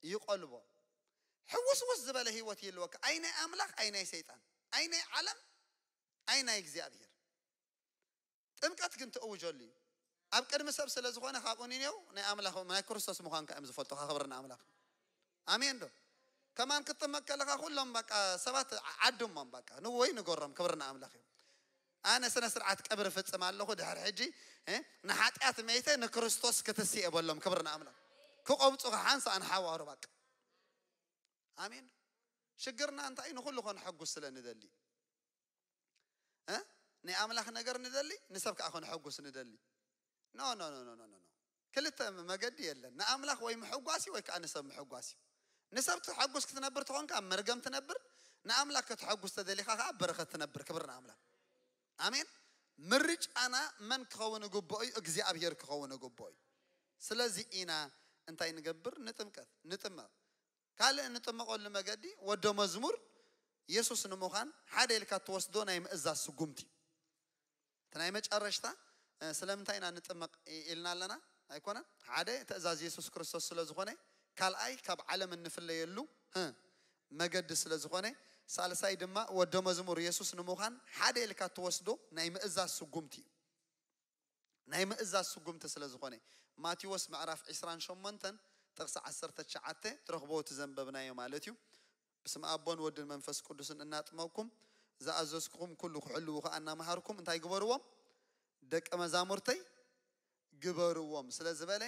ይቆልቦ። ሕውስውስ ዝበለ ህይወት ይህልወካ። ኣይ ናይ ኣምላኽ ኣይ ናይ ሰይጣን፣ ኣይ ናይ ዓለም ኣይ ናይ እግዚኣብሔር። ጥምቀት ግን ትእውጀሉ እዩ። ኣብ ቅድሚ ሰብ ስለ ዝኾነ ካብኡ ንኔው ናይ ኣምላኽ ናይ ክርስቶስ ምዃንካ እዮም ዝፈልጡኻ። ክብሪ ንኣምላኽ። ኣሜን ዶ? ከማን ክትጥመቅ ከለኻ ኩሎም በቃ ሰባት ዓድሞም በቃ ንወይ ንገሮም። ክብሪ ንኣምላኽ እዩ። ኣነ ስነ ስርዓት ቀብሪ ፍጽም ኣለኹ። ድሕሪ ሕጂ እ ንሓጢኣት መይተ ንክርስቶስ ክትስኤ በሎም። ክብሪ ንኣምላኽ። ክቆብፁኻ ሓንሳእ ንሓዋሩ በቃ። ኣሜን። ሽግርና እንታይ ንኹሉ ከነሐጉስ ስለ ንደሊ እ ናይ ኣምላኽ ነገር ንደሊ፣ ንሰብ ከዓ ከነሐጉስ ንደሊ። ኖ ኖ ኖ ኖ ኖ ኖ። ክልተ መገዲ የለን። ንኣምላኽ ወይ ምሕጓሲ ወይ ከዓ ንሰብ ምሕጓሲ። ንሰብ ትሐጉስ ክትነብር ተኾንካ ኣብ መርገም ትነብር፣ ንኣምላኽ ከተሐጉስ ተደሊኻ ከዓ ኣብ በረኸት ትነብር። ክብሪ ንኣምላኽ። ኣሜን። ምርጫና መን ክኸውን ግብኦ እዩ? እግዚኣብሔር ክኸውን ግብኦ እዩ። ስለዚ ኢና እንታይ ንገብር? ንጥምቀት ንጥመቕ። ካልእ እንጥመቐሉ መገዲ ወዶ መዝሙር ኢየሱስ ንምዃን ሓደ ኢልካ እትወስዶ ናይ ምእዛዝ ስጉምቲ እዩ። እቲ ናይ መጨረሽታ፣ እ፣ ስለምንታይ ኢና ንጥመቕ ኢ-፣ ኢልና ኣለና? ኣይኮነን? ሓደ ትእዛዝ ኢየሱስ ክርስቶስ ስለ ዝኾነ፣ ካልኣይ ካብ ዓለም እንፍለየሉ፣ እ፣ መገዲ ስለ ዝኾነ፣ ሳልሳይ ድማ ወዶ መዝሙር ኢየሱስ ንምዃን ሓደ ኢልካ እትወስዶ ናይ ምእዛዝ ስጉምቲ እዩ። ናይ ምእዛዝ ስጉምቲ ስለ ዝኾነ፣ ማቴዎስ ምዕራፍ ዕስራን ሸሞንተን ጥቕሲ ዓሰርተ ትሽዓተ ትረኽቦ እቲ ዘንበብናዮ ማለት እዩ። "በስመ ኣቦን ወድን መንፈስ ቅዱስን እናጥመቅኩም ዝኣዘዝኩኹም ኩሉ ክሕልዉ ከኣ እናመሃርኩም እንታይ ግበርዎም? ደቀ መዛሙርተይ ግበርዎም" ስለ ዝበለ፣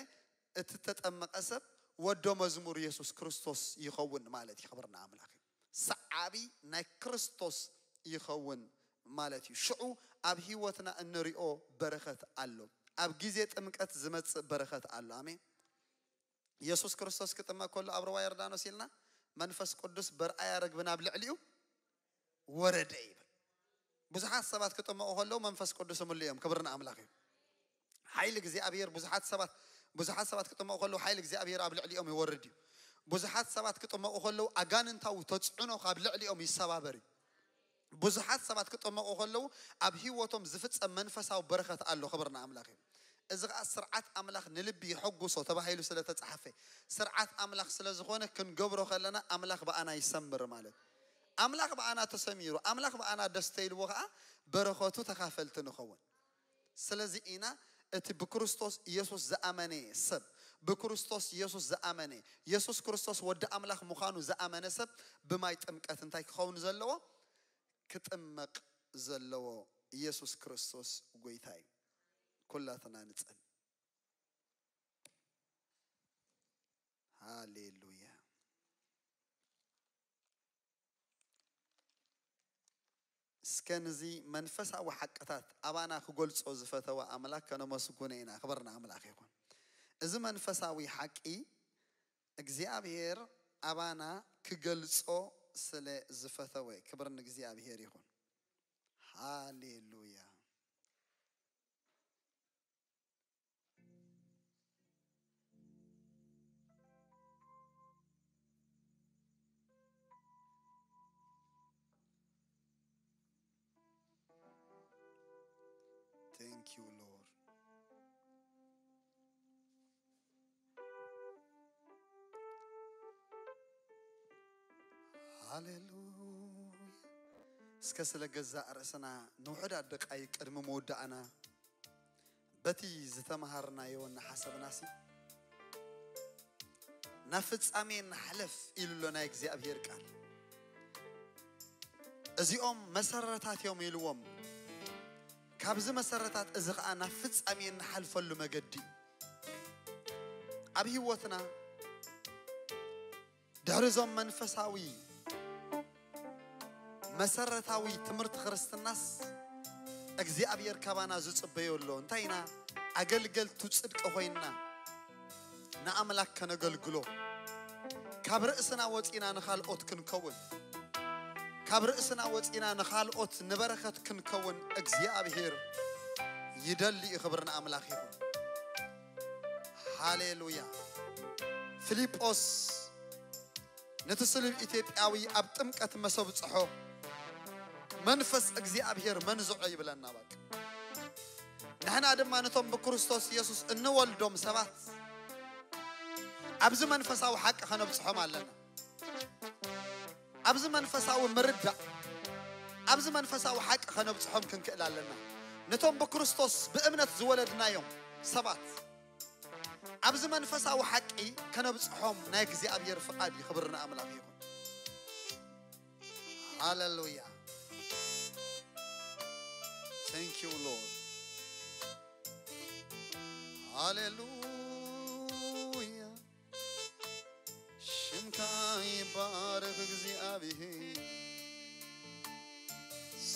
እቲ ተጠመቐ ሰብ ወዶ መዝሙር ኢየሱስ ክርስቶስ ይኸውን ማለት እዩ። ክብርና ኣምላኽ እዩ። ሰዓቢ ናይ ክርስቶስ ይኸውን ማለት እዩ። ሽዑ ኣብ ህይወትና እንሪኦ በረኸት ኣሎ። ኣብ ግዜ ጥምቀት ዝመጽእ በረኸት ኣሎ። ኣሜን። ኢየሱስ ክርስቶስ ክጥመቅ ከሎ ኣብ ሩባ ዮርዳኖስ ኢልና፣ መንፈስ ቅዱስ በርኣያ ርግቢ ናብ ልዕሊኡ ወረደ ይብል። ብዙሓት ሰባት ክጥመቑ ከለዉ መንፈስ ቅዱስ ይምልኡ እዮም። ክብሪ ንኣምላኽ እዩ። ሓይሊ እግዚኣብሔር ብዙሓት ሰባት፣ ብዙሓት ሰባት ክጥመቑ ከለዉ ሓይሊ እግዚኣብሔር ኣብ ልዕሊኦም ይወርድ እዩ። ብዙሓት ሰባት ክጥመቑ ከለዉ ኣጋንንታዊ ተጽዕኖ ካብ ልዕሊኦም ይሰባበር እዩ። ብዙሓት ሰባት ክጥመቑ ከለዉ ኣብ ህይወቶም ዝፍጸም መንፈሳዊ በረኸት ኣሎ። ክብሪ ንኣምላኽ እዩ። እዚ ኸኣ ስርዓት ኣምላኽ ንልቢ የሐጉሶ ተባሂሉ ስለ ተጻሕፈ፣ ስርዓት ኣምላኽ ስለ ዝኾነ ክንገብሮ ከለና ኣምላኽ ብኣና ይሰምር ማለት እዩ። ኣምላኽ ብኣና ተሰሚሩ፣ ኣምላኽ ብኣና ደስ ተይልዎ ኸኣ በረኸቱ ተኻፈልቲ ንኸውን። ስለዚ ኢና እቲ ብክርስቶስ ኢየሱስ ዝኣመነ ሰብ፣ ብክርስቶስ ኢየሱስ ዝኣመነ፣ ኢየሱስ ክርስቶስ ወዲ ኣምላኽ ምዃኑ ዝኣመነ ሰብ ብማይ ጥምቀት እንታይ ክኸውን ዘለዎ? ክጥመቕ ዘለዎ። ኢየሱስ ክርስቶስ ጎይታ እዩ። ኩላትና ንጸል። ሃሌሉያ። እስከ ነዚ መንፈሳዊ ሓቅታት ኣባና ክገልጾ ዝፈተወ ኣምላኽ ከነመስግኖ ኢና። ክብሪ ንኣምላኽ ይኹን። እዚ መንፈሳዊ ሓቂ እግዚኣብሔር ኣባና ክገልጾ ስለ ዝፈተወ፣ ክብሪ ንእግዚኣብሔር ይኹን። ሃሌሉያ። Thank you, Lord. ሃሌሉያ። እስከ ስለ ገዛእ ርእስና ንውሑዳት ደቃይቅ ቅድሚ ምውዳእና በቲ ዝተምሃርናዮ እናሓሰብናሲ ናብ ፍጻሜ ንሓለፍ ኢሉ ኣሎ ናይ እግዚኣብሔር ቃል። እዚኦም መሰረታት እዮም ኢልዎም። ካብዚ መሰረታት እዚ ኸኣ ናብ ፍጻሜ እንሓልፈሉ መገዲ እዩ። ኣብ ህይወትና ድሕሪ እዞም መንፈሳዊ መሰረታዊ ትምህርቲ ክርስትናስ እግዚኣብሔር ካባና ዝጽበዮ ኣሎ። እንታይ ኢና? ኣገልገልቱ ጽድቂ ኮይንና ንኣምላክ ከነገልግሎ፣ ካብ ርእስና ወጺና ንኻልኦት ክንከውን፣ ካብ ርእስና ወጺና ንኻልኦት ንበረኸት ክንከውን እግዚኣብሔር ይደሊ እዩ። ክብሪ ንኣምላኽ ይኹን። ሃሌሉያ። ፊልጶስ ነቲ ስሉብ ኢትዮጵያዊ ኣብ ጥምቀት መሰብ ጽሖ መንፈስ እግዚኣብሔር መንዝዖ ይብለና። በቃ ንሕና ድማ ነቶም ብክርስቶስ ኢየሱስ እንወልዶም ሰባት ኣብዚ መንፈሳዊ ሓቂ ከነብጽሖም ኣለና። ኣብዚ መንፈሳዊ ምርዳእ፣ ኣብዚ መንፈሳዊ ሓቂ ከነብጽሖም ክንክእል ኣለና። ነቶም ብክርስቶስ ብእምነት ዝወለድናዮም ሰባት ኣብዚ መንፈሳዊ ሓቂ ከነብጽሖም ናይ እግዚኣብሔር ፍቓድ እዩ። ክብሪ ንኣምላኽ ይኹን። ሃሌሉያ። Thank you, Lord. ሃሌሉያ። ሽምካ ይባረኽ እግዚኣብሔር።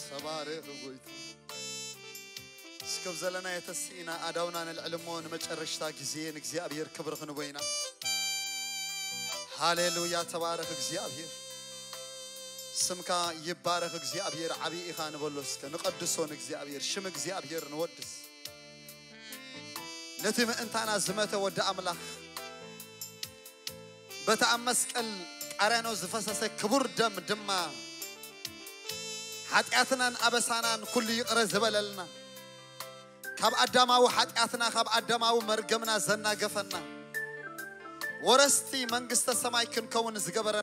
ተባረኽ ጎይታ። እስከ ኣብ ዘለናዮ ተሲእና ኣእዳውና ነልዕል እሞ ንመጨረሽታ ግዜ ንእግዚኣብሔር ክብሪ ክንቦ ኢና። ሃሌሉያ፣ ተባረኽ እግዚኣብሔር። ስምካ ይባረኽ እግዚኣብሔር፣ ዓብዪ ኢኻ ንበሎ እስከ፣ ንቐድሶ ንእግዚኣብሔር፣ ሽም እግዚኣብሔር ንወድስ። ነቲ ምእንታና ዝመተ ወዲ ኣምላኽ፣ በቲ ኣብ መስቀል ቀራንዮ ዝፈሰሰ ክቡር ደም ድማ ሓጢኣትናን ኣበሳናን ኩሉ ይቕረ ዝበለልና፣ ካብ ኣዳማዊ ሓጢኣትና፣ ካብ ኣዳማዊ መርገምና ዘናገፈና፣ ወረስቲ መንግስተ ሰማይ ክንከውን ዝገበረ